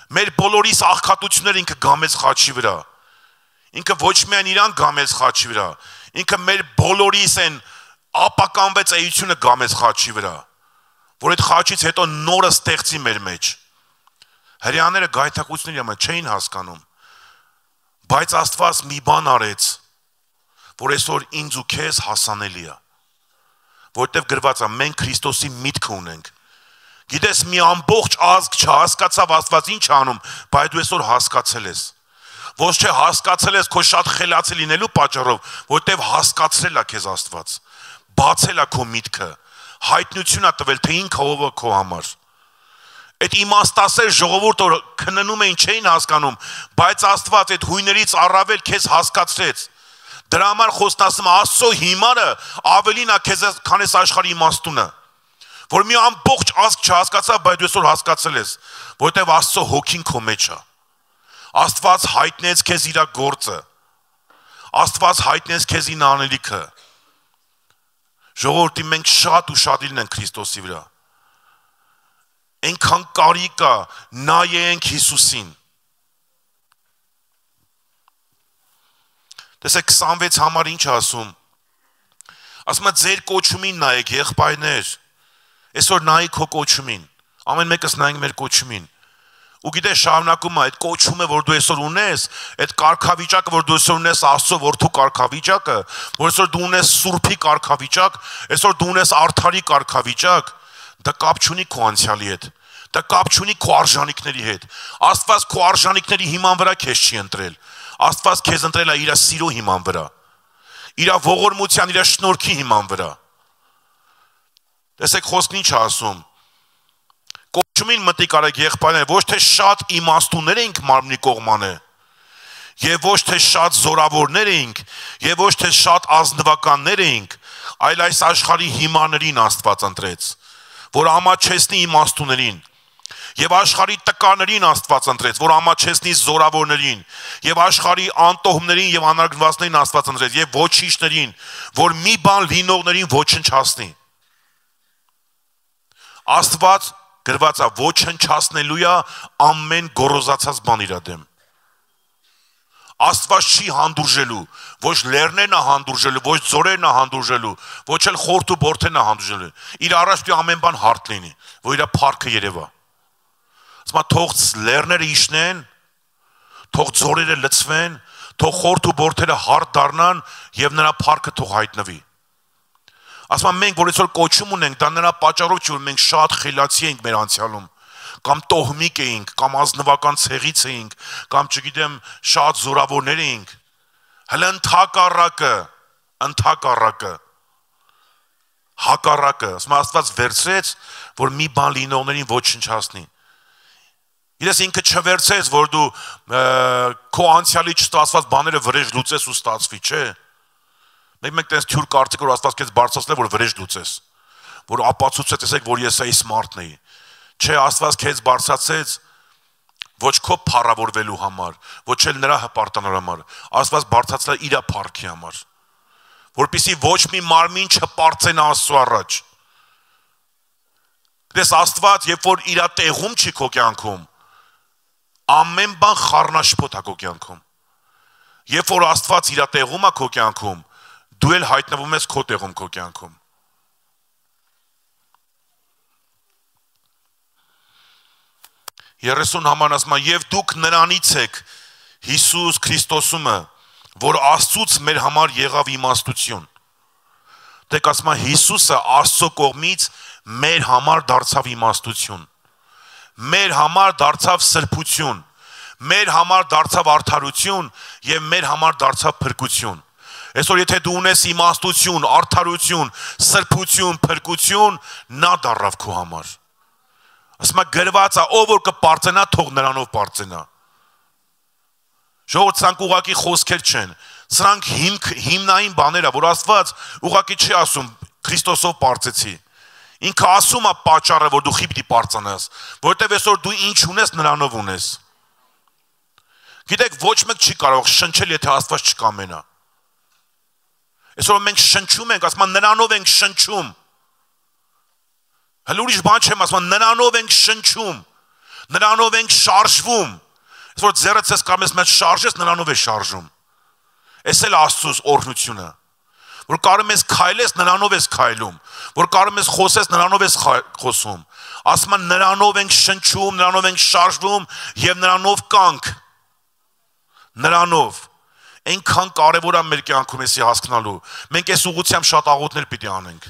Մեր բոլորիս աղքատությունները ինքը գամեց խաչի վրա։ Ինքը ոչ միայն իրան գամեց խաչի վրա, ինքը մեր բոլորիս են ապականվեց էությունը գամեց խաչի վրա, որ այդ խաչից հետո նորը ստեղծի մեր մեջ։ Հрьяաները գայթակղությունների համար չէին հասկանում, բայց Աստված մի բան արեց, որ այսօր ինձ ու քեզ հասանելի է, որտեղ գրված է մենք Քրիստոսի միտքը ունենք։ Գիտես մի ամբողջ ազգ չհասկացավ Աստված ինչ անում, բայց դու այսօր հասկացել ես։ Ոչ թե հասկացել ես քո շատ խելացի լինելու պատճառով, որտեղ հասկացրել է քեզ Աստված։ Բացել է քո միտքը, հայտնություն է տվել, թե ինքը ով է քո համար։ Այդ իմաստասեր ժողովուրդը որ քննում էին չէին հասկանում, բայց Աստված այդ հույներից առավել քեզ հասկացրեց։ Դրա համար խոստացում Աստծո հիմարը ավելին է քեզ քան այս աշխարհի իմաստունը։ Որ մի ամբողջ ազգ չհասկացավ, բայց դու այսօր հասկացել ես, որտեղ Աստծո հոգին քո մեջ է։ Աստված հայտնեց քեզ իր գործը։ Աստված հայտնեց քեզ իր անելիքը։ Ժողովրդի մենք շատ ու շատ լինենք Քրիստոսի վրա։ Այնքան կարիք կա նայենք Հիսուսին։ Տեսեք քսանվեց համար ինչ ասում։ Ասում է ձեր կոչումին նայեք եղբայրներ։ Այսօր նայի քո կոչումին, ամեն մեկս նայենք մեր կոչումին։ Ու գիտես շարունակում է այդ կոչումը, որ դու այսօր ունես, այդ կարգավիճակը, որ դու այսօր ունես Աստծո որդու կարգավիճակը, որ այսօր դու ունես Սուրբի կարգավիճակ, այսօր դու ունես արդարի կարգավիճակ, դա կապ չունի քո անցյալի հետ, դա կապ չունի քո արժանինքների հետ։ Աստված քո արժանինքների հիման վրա քեզ չի ընտրել։ Աստված քեզ ընտրել է իր սիրո հիման վրա, իր ողորմության, իր շնորհքի հիման վրա։ Տեսեք խոսքն ինչ ասում։ Կոչումին մտիկ արեք եղբայրներ, ոչ թե շատ իմաստուններ էինք մարմնի կողմանը, եւ ոչ թե շատ զորավորներ էինք, եւ ոչ թե շատ ազնվականներ էինք, այլ այս աշխարհի հիմարներին Աստված ընտրեց, որ ամաչեցնի իմաստուներին, եւ աշխարհի տկաներին Աստված ընտրեց, որ ամաչեցնի զորավորներին, եւ աշխարհի անտոհմներին եւ անարգվածներին Աստված ընտրեց, եւ ոչիչներին, որ մի բան լինողներին ոչնչացնի։ Աստված գրված է ոչնչացնելու է ամեն գոռոզացած բան իր դեմ։ Աստված չի հանդուրժելու, ոչ լեռներն է հանդուրժելու, ոչ ձորերն է հանդուրժելու, ոչ էլ խորթ ու բորթերն է հանդուրժելու։ Իր առաջ դու ամեն բան հարթ լինի, որ իր փառքը երևա։ Ասում է թող լեռները իջնեն, թող ձորերը լցվեն, թող խորթ ու բորթերը հարթ դառնան եւ նրա փառքը թող հայտնվի։ Ասում եմ մենք որ այսօր կոչում ունենք, դա նրա պատճառով չի, որ մենք շատ խելացի ենք մեր անցյալում, կամ տոհմիկ էինք, կամ ազնվական ցեղից էինք, կամ չգիտեմ շատ զորավորներ էինք։ Հələ ընդհակառակը, ընդհակառակը, հակառակը, ասում Աստված վերցրեց, որ մի բան լինողներին ոչնչացնի։ Իրես ինքը չվերցեց, որ դու քո անցյալի չստացված բաները վրեժ լուծես ու ստացվի, չէ։ Մեկ-մեկ տես թյուր կարծիք որ Աստված քեզ բարձրացնել որ վրեժ լուծես, որ ապացուցեց, տեսեք որ ես էի սմարթն էի։ Չէ, Աստված քեզ բարձրացեց ոչ քո փառավորվելու համար, ոչ էլ նրա հպարտանալու համար, Աստված բարձրացել է իր փառքի համար, որպեսզի ոչ մի մարմին չպարծենա Աստծո առաջ։ Դες Աստված, երբ որ իր տեղում չի քո կյանքում, ամեն բան խառնաշփոթ է քո կյանքում։ Երբ որ Աստված իր տեղում է քո կյանքում, դու էլ հայտնվում ես քո տեղում քո կյանքում։ երեսուն համար ասում է եւ դուք նրանից եք Հիսուս Քրիստոսումը, որ Աստծուց մեր համար եղավ իմաստություն։ Դեք ասում է Հիսուսը Աստծո կողմից մեր համար դարձավ իմաստություն։ Մեր համար դարձավ սրբություն, մեր համար դարձավ արդարություն եւ մեր համար դարձավ փրկություն։ Այսօր եթե դու ունես իմաստություն, արդարություն, սրբություն, փրկություն, նա դառավ քո համար։ Ասում է գրված է, ով որ կպարծենա, թող նրանով պարծենա։ Ժողովուրդ, սրանք ուղղակի խոսքեր չեն, սրանք հիմք հիմնային բաներ ա, որ Աստված ուղղակի չի ասում Քրիստոսով պարծեցի։ Ինքը ասում է պատճառը, որ դու խիպտի պարծանաս, որտեվ այսօր դու ինչ ունես, նրանով ունես։ Գիտեք, ոչ մեկ չի կարող շնչել, եթե Աստված չկամենա։ Այսօր մենք շնչում ենք, ասում են նրանով ենք շնչում։ Հələ ուրիշ բան չեմ ասում, նրանով ենք շնչում, նրանով ենք շարժվում։ Այսօր ձեռդ ես կամ ես մեծ շարժես, նրանով է շարժում։ Էս էլ Աստծոս օրհնությունը։ Որ կարում ես քայլես, նրանով ես քայլում, որ կարում ես խոսես, նրանով ես խոսում։ Ասում են նրանով ենք շնչում, նրանով ենք շարժվում եւ նրանով կանք։ Նրանով այնքան կարևոր է մեր կյանքում էսի հասկանալու։ Մենք այս ուղղությամբ շատ աղոթներ պիտի անենք։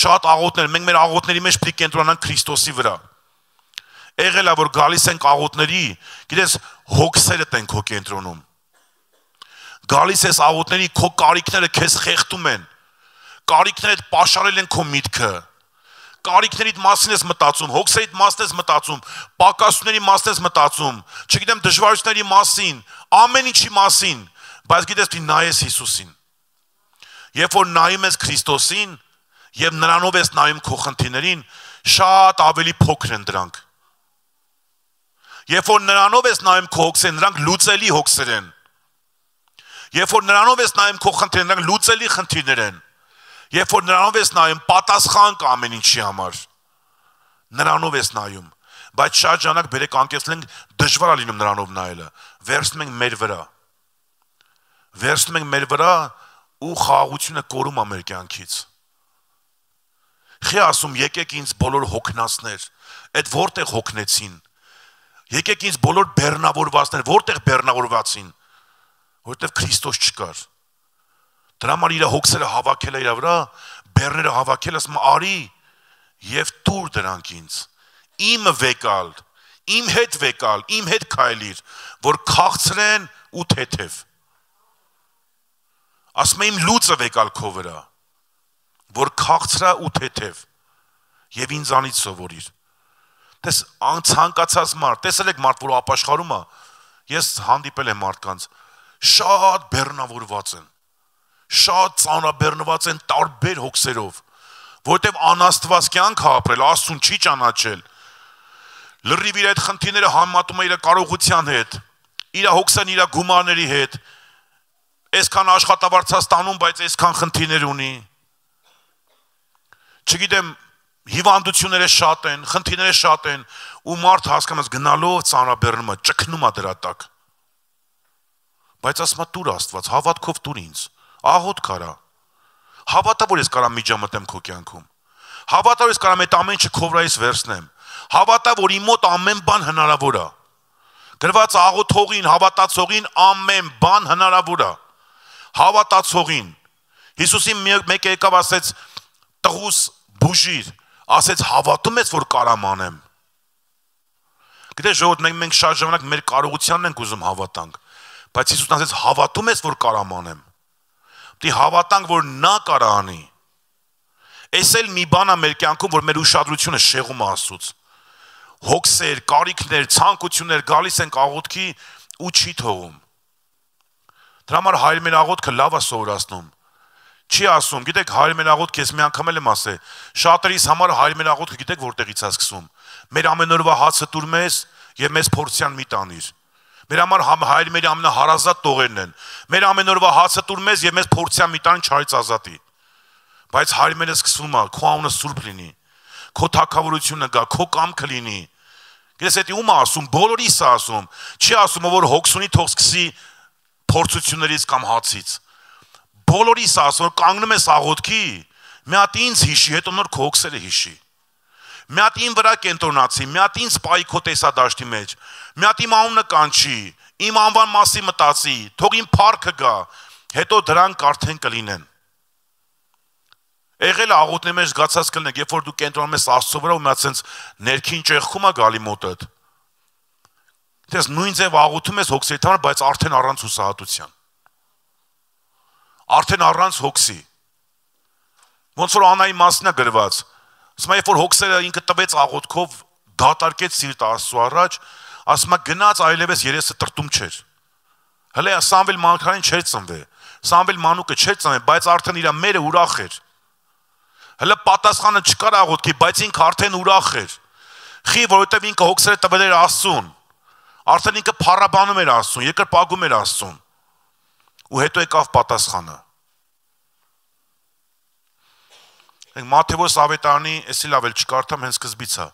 Շատ աղոթներ, մենք մեր աղոթների մեջ պիտի կենտրոնանանք Քրիստոսի վրա։ Եղել է որ գալիս ենք աղոթների, գիտես, հոգսերդ են քո կենտրոնում։ Գալիս ես աղոթների, քո կարիքները քեզ խեղդում են։ Կարիքներդ պաշարել են քո միտքը։ Կարիքներիդ մասին ես մտածում, հոգսերիդ մասին ես մտածում, պակասությունների մասին ես մտածում, չգիտեմ դժվարությունների մասին, ամեն ինչի մասին, բայց գիտես դու նայես Հիսուսին։ Երբ որ նայում ես Քրիստոսին եւ նրանով ես նայում քո խնդիրներին, շատ ավելի փոքր են դրանք։ Երբ որ նրանով ես նայում քո հոգսերին, նրանք լուծելի հոգսեր են։ Երբ որ նրանով ես նայում քո խնդիրներին, նրանք լուծելի խնդիրներ են։ Երբ որ նրանով ես նայում, պատասխան կա ամեն ինչի համար։ Նրանով ես նայում, բայց շատ ժամանակ բերեք անկեղծենք դժվար է լինում նրանով նայելը։ Վերցնում ենք մեր վրա։ Վերցնում ենք մեր վրա ու խաղաղությունը կորում է մեր կյանքից։ Խի ասում, եկեք ինձ բոլոր հոգնածներ, այդ որտեղ հոգնեցին։ Եկեք ինձ բոլոր բեռնավորվածներ, որտեղ բեռնավորվածին, որտեղ Քրիստոս չկար։ Դրա համար իր հոգսերը հավաքել է իր վրա, բեռները հավաքել, ասում արի եւ տուր դրանք ինձ։ Իմը վեկալ, իմ հետ վեկալ, իմ հետ քայլիր, որ քաղցրեն ու թեթև։ Ասում եմ լուծը վեկալ քո վրա, որ քաղցրա ու թեթև եւ ինձանից սովորիր։ Տես ցանկացած մարդ, տեսել եք մարդ, որ ապաշխարում է, ես հանդիպել եմ մարդկանց, շատ բեռնավորված են, շատ ծանրաբեռնված են տարբեր հոգսերով, որտեվ անաստված կյանք ապրել, Աստծուն չի ճանաչել, լրիվ իր այդ խնդիրները համեմատում է իր կարողության հետ, իր հոգսան իր գումարների հետ, այսքան աշխատավարձած տանում, բայց այսքան խնդիրներ ունի, չգիտեմ, հիվանդությունները շատ են, խնդիրները շատ են, ու մարդ հասկանաս գնալով ծանրաբեռնում է, ճգնում է դրա տակ։ Բայց ասում է տուր Աստված, հավատքով տուր ինձ, աղոթք արա։ Հավատա, որ ես կարամ միջամտեմ քո կյանքում։ Հավատա, որ ես կարամ այդ ամեն ինչը քո վրայից վերցնեմ։ Հավատա, որ իմ մոտ ամեն բան հնարավոր է։ Գրված աղոթողին, հավատացողին ամեն բան հնարավոր է։ Հավատացողին։ Հիսուսին մեկը եկավ ասեց տղուս բուժիր, ասեց հավատում ես, որ կարամ անեմ։ Գիտես ժողովուրդ, մենք մենք շատ ժամանակ մեր կարողությանն ենք ուզում հավատանք, բայց Հիսուսն ասեց հավատում ես, որ կարամ անեմ։ Դի հավատանք, որ նա կարա անի։ Էս էլ մի բան է մեր կյանքում, որ մեր ուշադրությունը շեղում է Աստծուց։ Հոգսեր, կարիքներ, ցանկություններ գալիս են աղոթքի ու չի թողում։ Դրա համար Հայր մեր աղոթքը լավ է սովորացնում։ Չի ասում, գիտեք, Հայր մեր աղոթքը ես մի անգամ եմ ասել, շատերիս համար Հայր մեր աղոթքը գիտեք որտեղից է սկսում։ Մեր ամենօրվա հացը տուր մեզ եւ մեզ փորձյան մի տանիր։ Մեր համար Հայր մեր ամենահարազատ տողերն են։ Մեր ամենօրվա հացը տուր մեզ եւ մեզ փորձյան մի տանիր չարից ազատի։ Բայց Հայր մերը սկսվում է, քո անունը սուրբ լինի, քո թագավորությունը գա, քո կամքը լինի։ Գիտես, դա ում է ասում, բոլորիս է ասում։ Չի ասում, որ հոգսունի թող սկսի փորձություններից կամ հացից։ Բոլորիս ասում, որ կանգնում ես աղոթքի, մի հատ ինձ հիշի, հետո նոր քո հոգսերը հիշի։ մի հատ ին վրա կենտրոնացի, մի հատ ինձ սպայի քո տեսադաշտի մեջ, մի հատ իմ անունը կանչի, իմ անվան մասի մտածի, թող իմ փառքը գա, հետո դրանք արդեն կլինեն։ Եղել է աղոթների մեջ զգացած կլինեք, երբ որ դու կենտրոնում ես Աստծո վրա ու մի հատ sense ներքին ճեղքում է գալի մոտդ։ Դες նույն ձև աղոթում ես հոգսի համար, բայց արդեն առանց հուսահատության։ Արդեն առանց հոգսի։ Ոնց որ Անայի մասն է գրված։ Ասում է, երբ որ հոգսերը ինքը տվեց աղոթքով, դատարկեց սիրտ Աստծո առաջ, ասում է գնաց այլևս երեսը տրտում չէր։ Հələ Սամվել Մանուկյանին չէր ծնվել։ Սամվել Մանուկը չէր ծնվել, բայց արդեն իր մերը ուրախ էր։ Հələ պատասխանը չկար աղոթքի, բայց ինքը արդեն ուրախ էր։ Խի, որովհետև ինքը հոգսերը տվել էր Աստծուն։ Արդեն ինքը փառաբանում էր Աստծուն, երկրպագում էր Աստծուն։ Ու հետո եկավ պատասխանը։ Մատթեոս ավետարանի, էսի լավ էլ չկարդամ, հենց սկզբից է։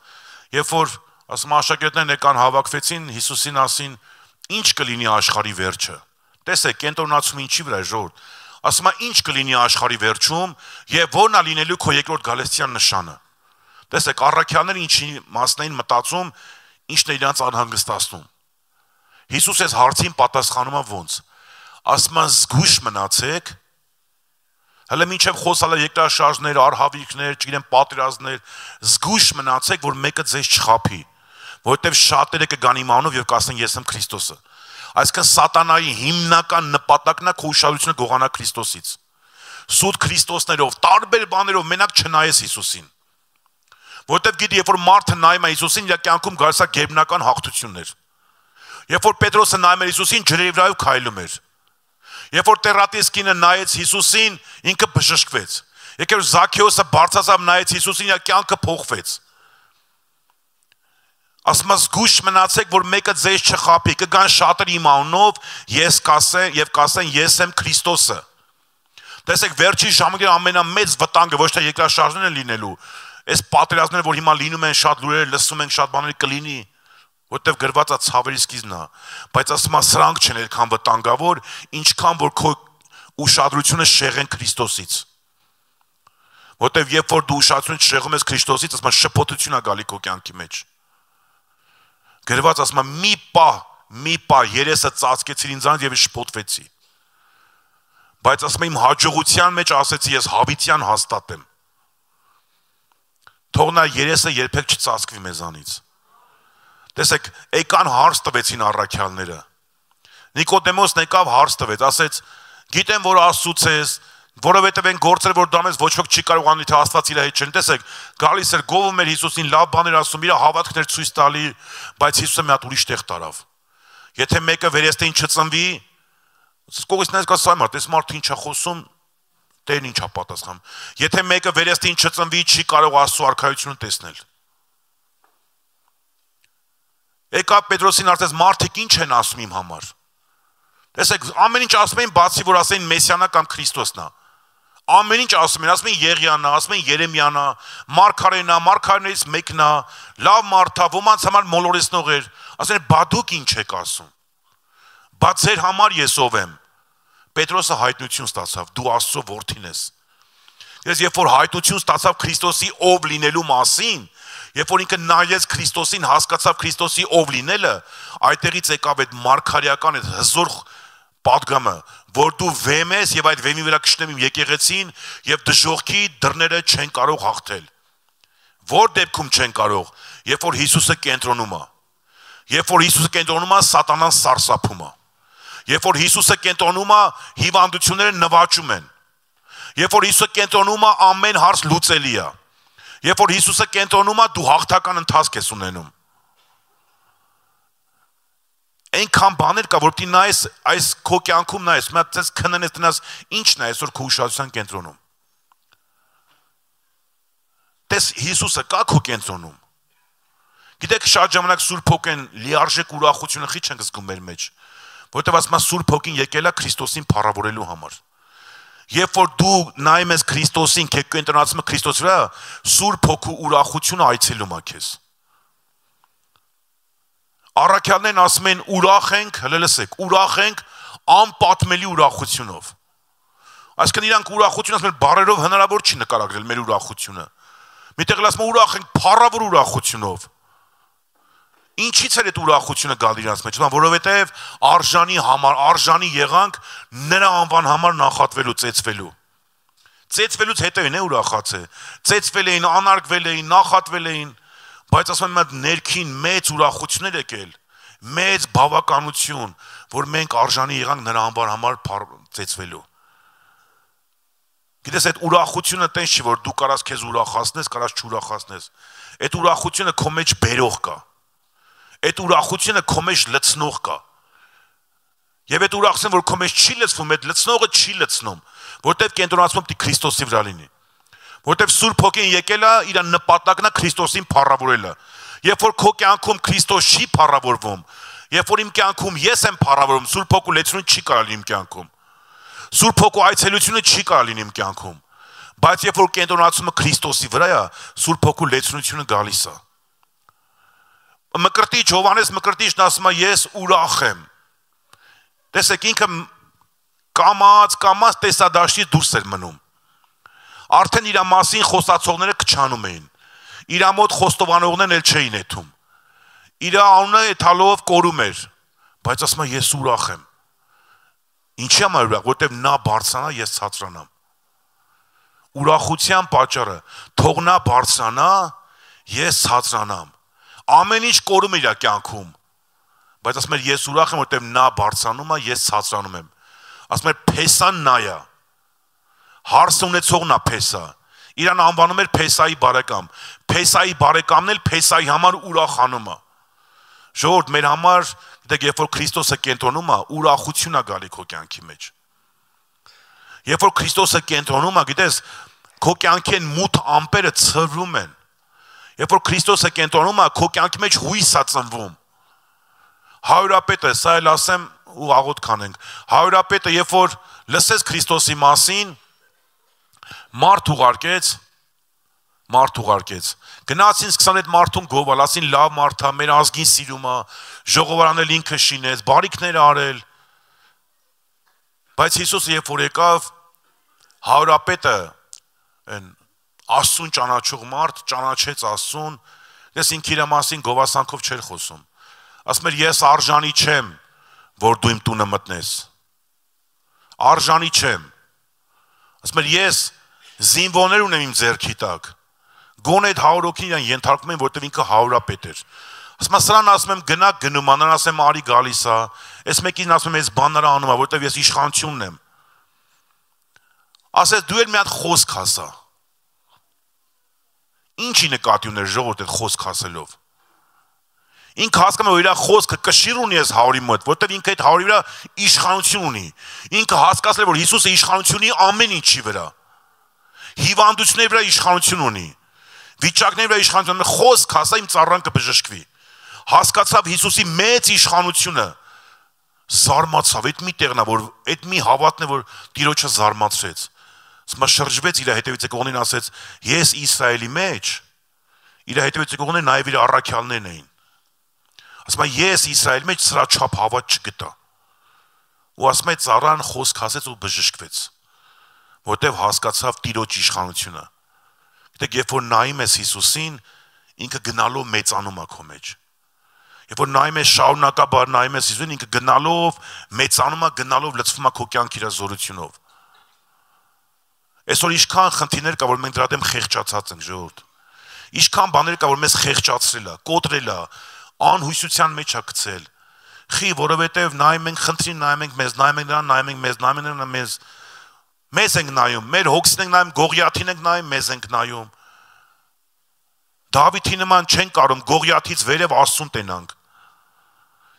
Երբ որ ասում աշակերտներն եկան հավաքվեցին, Հիսուսին ասին, ինչ կլինի աշխարհի վերջը։ Տեսեք, կենտրոնացում ինչի վրա է ժողովուրդ։ Ասում է, ինչ կլինի աշխարհի վերջում եւ ո՞րն է լինելու քո երկրորդ գալստյան նշանը։ Տեսեք, առաքյալները ինչի մասն էին մտածում, ինչն է իրանց անհանգստացնում։ Հիսուս այս հարցին պատասխանում է ոնց։ Ասում է, զգույշ մնացեք։ Հələ մինչև խոսալը երկրաշարժներ, արհավիրքներ, չգիտեմ, պատերազմներ, զգույշ մնացեք, որ մեկը ձեզ չխաբի, որովհետև շատերը կգան իմ անունով եւ կասեն ես եմ Քրիստոսը։ Այսինքն սատանայի հիմնական նպատակն է քո ուշադրությունը գողանալ Քրիստոսից։ Սուտ Քրիստոսներով, տարբեր բաներով մենակ չնայես Հիսուսին։ Որովհետև գիտի, երբ որ մարդը նայում է Հիսուսին, իր կյանքում գալիս է գերբնական հաղթություններ։ Երբ որ Պետրոսը նայում էր Հիսուսին, ջրերի վրայով քայլում էր։ Երբ որ Տերատիս կինը նայեց Հիսուսին, ինքը բժշկվեց։ Եկեք որ Զաքեոսը բարձրացավ նայեց Հիսուսին, իր կյանքը փոխվեց։ Ասում է զգույշ մնացեք, որ մեկը ձեզ չխաբի, կգան շատերը իմ անունով, ես կասեն եւ կասեն ես եմ Քրիստոսը։ Տեսեք, վերջի ժամանակի ամենամեծ վտանգը ոչ թե երկրաշարժներն են լինելու, այս պատերազմները, որ հիմա լինում են, շատ լուրեր լսում ենք, շատ բաներ կլինի, որտեվ գրված է ցավերի սկիզբն է, բայց ասում է սրանք չեն այդքան վտանգավոր, ինչքան որ քո ուշադրությունը շեղեն Քրիստոսից։ Որտեվ երբ որ դու ուշադրություն շեղում ես Քրիստոսից, ասում է շփոթություն է գալի քո կյանքի մեջ։ Գրված ասում է մի պահ, մի պահ երեսը ծածկեցին ինձանից եւ շփոթվեցի։ Բայց ասում է իմ հաջողության մեջ ասեցի ես հավիտյան հաստատեմ։ Թող նա երեսը երբեք չծածկվի մեզանից։ Տեսեք, եկան հարց տվեցին առաքյալները։ Նիկոդեմոսն եկավ հարց տվեց, ասեց, գիտեմ, որ Աստծուց ես, որովհետև այն գործերը, որ դու անես, ոչ ոք չի կարող անի, թե Աստված իր հետ չեն։ Տեսեք, գալիս էր գովում էր Հիսուսին, լավ բաներ ասում, իր հավատքներ ցույց տալի, բայց Հիսուսը մի հատ ուրիշ տեղ տարավ։ Եթե մեկը վերստին չծնվի, կողքից կա սա մարդ, այս մարդը ինչ է խոսում, Տերն ինչ է պատասխանում։ Եթե մեկը վերստին չծնվի, չի կարող Աստծո արքայությունը տեսնել։ Եկա Պետրոսին ասեց, մարդիկ ինչ են ասում իմ համար։ Տեսեք, ամեն ինչ ասում են, բացի որ ասեն Մեսիանա կամ Քրիստոսն է։ Ամեն ինչ ասում են, ասում են Եղիանա, ասում են Երեմիանա, Մարգարենա, Մարգարեներից մեկն է, լավ մարդ է, ոմանց համար մոլորեցնող էր։ Ասեն, բա դուք ինչ եք ասում։ Բա ձեր համար ես ով եմ։ Պետրոսը հայտնություն ստացավ, դու Աստծո որդին ես։ Ես երբ որ հայտնություն ստացավ Քրիստոսի ով լինելու մասին, երբ որ ինքը նայեց Քրիստոսին, հասկացավ Քրիստոսի ով լինելը, այդտեղից եկավ այդ մարգարեական այդ հզոր պատգամը, որ դու վեմ ես եւ այդ վեմի վրա կշնեմ իմ եկեղեցին եւ դժողքի դռները չեն կարող հաղթել։ Որ դեպքում չեն կարող, երբ որ Հիսուսը կենտրոնում է։ Երբ որ Հիսուսը կենտրոնում է, սատանան սարսափում է։ Երբ որ Հիսուսը կենտրոնում է, հիվանդությունները նվաճում են։ Երբ որ Հիսուսը կենտրոնում է, ամեն հարց լուծելի է։ Երբ որ Հիսուսը կենտրոնում է, դու հաղթական ընթացք ես ունենում։ Այնքան բաներ կա, որ դու նայես այս քո կյանքում նայես, մի հատ ցես քննես տնաս, ինչն է այսօր քո ուշադրության կենտրոնում։ Տես Հիսուսը կա քո կենտրոնում։ Գիտեք, շատ ժամանակ Սուրբ Հոգին լիարժեք ուրախությունը խի չենք զգում մեր մեջ, որովհետև ասում է Սուրբ Հոգին եկել է Քրիստոսին փառավորելու համար։ Երբ որ դու նայում ես Քրիստոսին, քո կենտրոնացումը Քրիստոսի վրա, Սուրբ Հոգու ուրախությունը այցելում է քեզ։ Առաքյալներն ասում են ուրախ ենք, հələ լսեք, ուրախ ենք անպատմելի ուրախությունով։ Այսինքն իրանք ուրախություն ասում են բառերով հնարավոր չի նկարագրել մեր ուրախությունը։ Միտեղ ասում են ուրախ ենք փառավոր ուրախությունով։ Ինչից էր այդ ուրախությունը գալ իրանց մեջ, որովհետև արժանի համար, արժանի եղանք նրա անվան համար նախատվելու, ծեծվելու։ Ծեծվելուց հետո են է ուրախացել։ Ծեծվել էին, անարգվել էին, նախատվել էին, բայց ասում եմ ներքին մեծ ուրախություններ եկել, մեծ բավականություն, որ մենք արժանի եղանք նրա անվան համար ծեծվելու։ Գիտես այդ ուրախությունը տես չի, որ դու կարաս քեզ ուրախացնես, կարաս չուրախացնես։ Այդ ուրախությունը քո մեջ բերող կա։ Այդ ուրախությունը քո մեջ լցնող կա։ Եվ այդ ուրախությունը, որ քո մեջ չի լցվում, այդ լցնողը չի լցնում, որտեղ կենտրոնացվում է Քրիստոսի վրա լինի։ Որտեղ Սուրբ Հոգին եկել է, իր նպատակն է Քրիստոսին փառավորելը։ Երբ որ քո կյանքում Քրիստոս չի փառավորվում, երբ որ իմ կյանքում ես եմ փառավորում, Սուրբ Հոգու լեցությունը չի կարող լինի իմ կյանքում։ Սուրբ Հոգու այցելությունը չի կարող լինի իմ կյանքում։ Բայց երբ որ կենտրոնացումը Քրիստոսի վրա է, Սուրբ Հոգու լեցությունը գալիս է։ Մկրտիչ Հովհաննես Մկրտիչն ասում է ես ուրախ եմ։ Տեսեք ինքը կամած, կամած տեսադաշտից դուրս էր մնում։ Արդեն իր մասին խոսացողները քչանում էին։ Իր մոտ խոստովանողներն էլ չէին եթում։ Իր անունը եթալով կորում էր, բայց ասում է ես ուրախ եմ։ Ինչի համար ուրախ, որտեղ նա բարձրանա, ես ցածրանամ։ Ուրախության պատճառը, թող նա բարձրանա, ես ցածրանամ։ Ամեն ինչ կորում է իր կյանքում, բայց ասում է ես ուրախ եմ, որտեղ նա բարձրանում է, ես ցածրանում եմ։ Ասում է Փեսան նա է։ Հարս ունեցողն է Փեսա։ Իրան անվանում էր Փեսայի բարեկամ։ Փեսայի բարեկամն էլ Փեսայի համար ուրախանում է։ Ժողովուրդ, մեր համար, դեք երբ որ Քրիստոսը կենտրոնում է, ուրախություն է գալի քո կյանքի մեջ։ Երբ որ Քրիստոսը կենտրոնում է, գիտես, քո կյանքի մութ ամպերը ցրվում են։ Երբ որ Քրիստոսը կենտրոնում է, քո կյանքի մեջ հույս է ծնվում։ Հարյուրապետը, սա էլ ասեմ ու աղոթ կանենք։ Հարյուրապետը, երբ որ լսեց Քրիստոսի մասին, մարդ ուղարկեց, մարդ ուղարկեց։ Գնացին սկսան այդ մարդուն գովալ, ասին լավ մարդ է, մեր ազգին սիրում է, ժողովարանը ինքը շինեց, բարիքներ արել։ Բայց Հիսուսը երբ որ եկավ, հարյուրապետը այն Աստծուն ճանաչող մարդ ճանաչեց Աստծուն, ես ինքը իր մասին գովասանքով չէր խոսում։ Ասում էր ես արժանի չեմ, որ դու իմ տունը մտնես։ Արժանի չեմ։ Ասում էր ես զինվորներ ունեմ իմ ձեռքի տակ։ Գոնե այդ հարյուր հոգին իրան ենթարկում են, որտեղ ինքը հարյուրապետ էր։ Ասում եմ սրան ասում եմ գնա գնում, անան ասեմ արի գալիս է։ Այս մեկին ասում եմ ես բանները անում եմ, որտեղ ես իշխանությունն եմ։ Ասես դու էլ մի հատ խոսք ասա։ Ինչի նկատի ուներ ժողովուրդ այդ խոսք ասելով։ Ինքը հասկանում է, որ իր խոսքը կշիռ ունի այս հարյուրի մոտ, որտեղ ինքը այդ հարյուրի վրա իշխանություն ունի։ Ինքը հասկացել է, որ Հիսուսը իշխանություն ունի ամեն ինչի վրա։ Հիվանդությունների վրա իշխանություն ունի։ Վիճակների վրա իշխանություն ունի, խոսք ասա իմ ծառան կբժշկվի։ Հասկացավ Հիսուսի մեծ իշխանությունը։ Զարմացավ, այդ մի տեղն է, որ այդ մի հավատն է, որ Տիրոջը զարմացրեց։ Սմա շրջվեց իր հետևից եկողներին ասեց. ես Իսրայելի մեջ, իր հետևից եկողները նաև իր առաքյալներն էին։ Ասում է ես Իսրայելի մեջ սրա չափ հավատ չգտա։ Ու ասում է ծառան խոսք ասեց ու բժշկվեց, որտեվ հասկացավ Տիրոջ իշխանությունը։ Գիտեք, երբ որ նայում ես Հիսուսին, ինքը գնալով մեծանում է քո մեջ։ Երբ որ նայում ես շարունակաբար նայում ես Հիսուսին, ինքը գնալով մեծանում է, գնալով լցվում է քո կյանքի իր զորությունով։ Այսօր ինչքան խնդիրներ կա, որ մենք դրա դեմ խեղճացած ենք, ժողովուրդ։ Ինչքան բաներ կա, որ մեզ խեղճացրել է, կոտրել է, անհույսության մեջ է գցել։ Խի, որովհետև նայում ենք խնդրին, նայում ենք մեզ, նայում ենք նրան, նայում ենք մեզ, նայում ենք նրան, մեզ մեզ ենք նայում, մեր հոգսին ենք նայում, Գողիաթին ենք նայում, մեզ ենք նայում։ Դավիթի նման չենք կարող Գողիաթից վերև Աստծուն տենանք։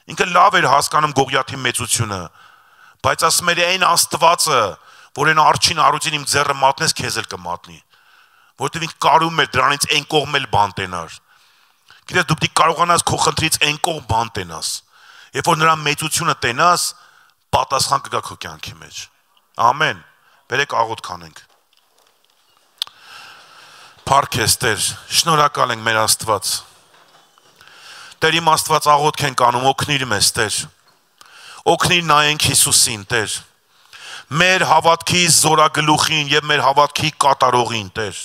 Ինքը լավ էր հասկանում Գողիաթի մեծությունը, բայց ասում էր այն Աստվածը, որ այն արջին առուծին իմ ձեռը մատնես, քեզ էլ կմատնի։ Որտեւ ինքը կարում էր դրանից այն կողմ էլ բան տենար։ Գիտես դու պիտի կարողանաս քո խնդրից այն կողմ բան տենաս։ Երբ որ նրա մեծությունը տենաս, պատասխան կգա քո կյանքի մեջ։ Ամեն։ Բերեք աղոթ կանենք։ Փառք ես Տեր, շնորհակալ ենք մեր Աստված։ Տեր իմ Աստված աղոթք ենք անում, օգնիր մեզ Տեր։ Օգնիր նայենք Հիսուսին Տեր։ Մեր հավատքի զորագլուխին եւ մեր հավատքի կատարողին Տեր։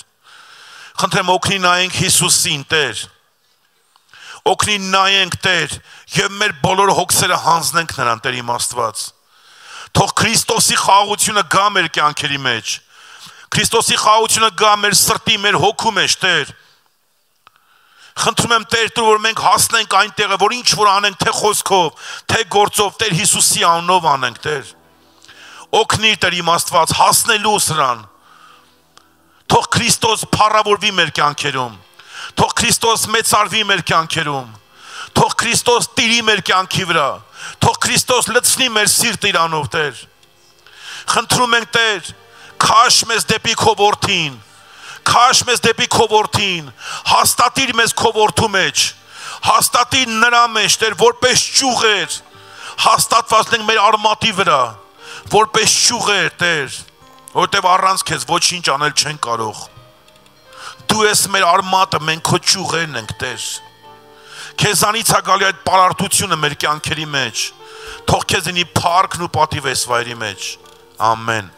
Խնդրեմ օգնի նայենք Հիսուսին, Տեր։ Օգնի նայենք, Տեր, եւ մեր բոլոր հոգսերը հանձնենք նրան, Տեր իմ Աստված։ Թող Քրիստոսի խաղաղությունը գա մեր կյանքերի մեջ։ Քրիստոսի խաղաղությունը գա մեր սրտի, մեր հոգու մեջ, Տեր։ Խնդրում եմ, Տեր, դու որ մենք հասնենք այն տեղը, որ ինչ որ անենք, թե խոսքով, թե գործով, Տեր Հիսուսի անունով անենք, Տեր։ Օգնի, Տեր իմ Աստված, հասնելու սրան։ Թող Քրիստոս փառավորվի մեր կյանքերում։ Թող Քրիստոս մեծարվի մեր կյանքերում։ Թող Քրիստոս տիրի մեր կյանքի վրա։ Թող Քրիստոս լցնի մեր սիրտը իրանով, Տեր։ Խնդրում ենք, Տեր, քաշ մեզ դեպի քո որդին։ Քաշ մեզ դեպի քո որդին, հաստատիր մեզ քո որդու մեջ, հաստատիր նրա մեջ, Տեր, որպես ճյուղեր, հաստատված ենք մեր արմատի վրա, որպես ճյուղեր, Տեր, որտեվ առանց քեզ ոչինչ անել չեն կարող։ Դու ես մեր արմատը, մենք քո ճյուղերն ենք, Տեր։ Քեզանից է գալի այդ պարարտությունը մեր կյանքերի մեջ։ Թող քեզ լինի փառքն ու պատիվ այս վայրի մեջ։ Ամեն։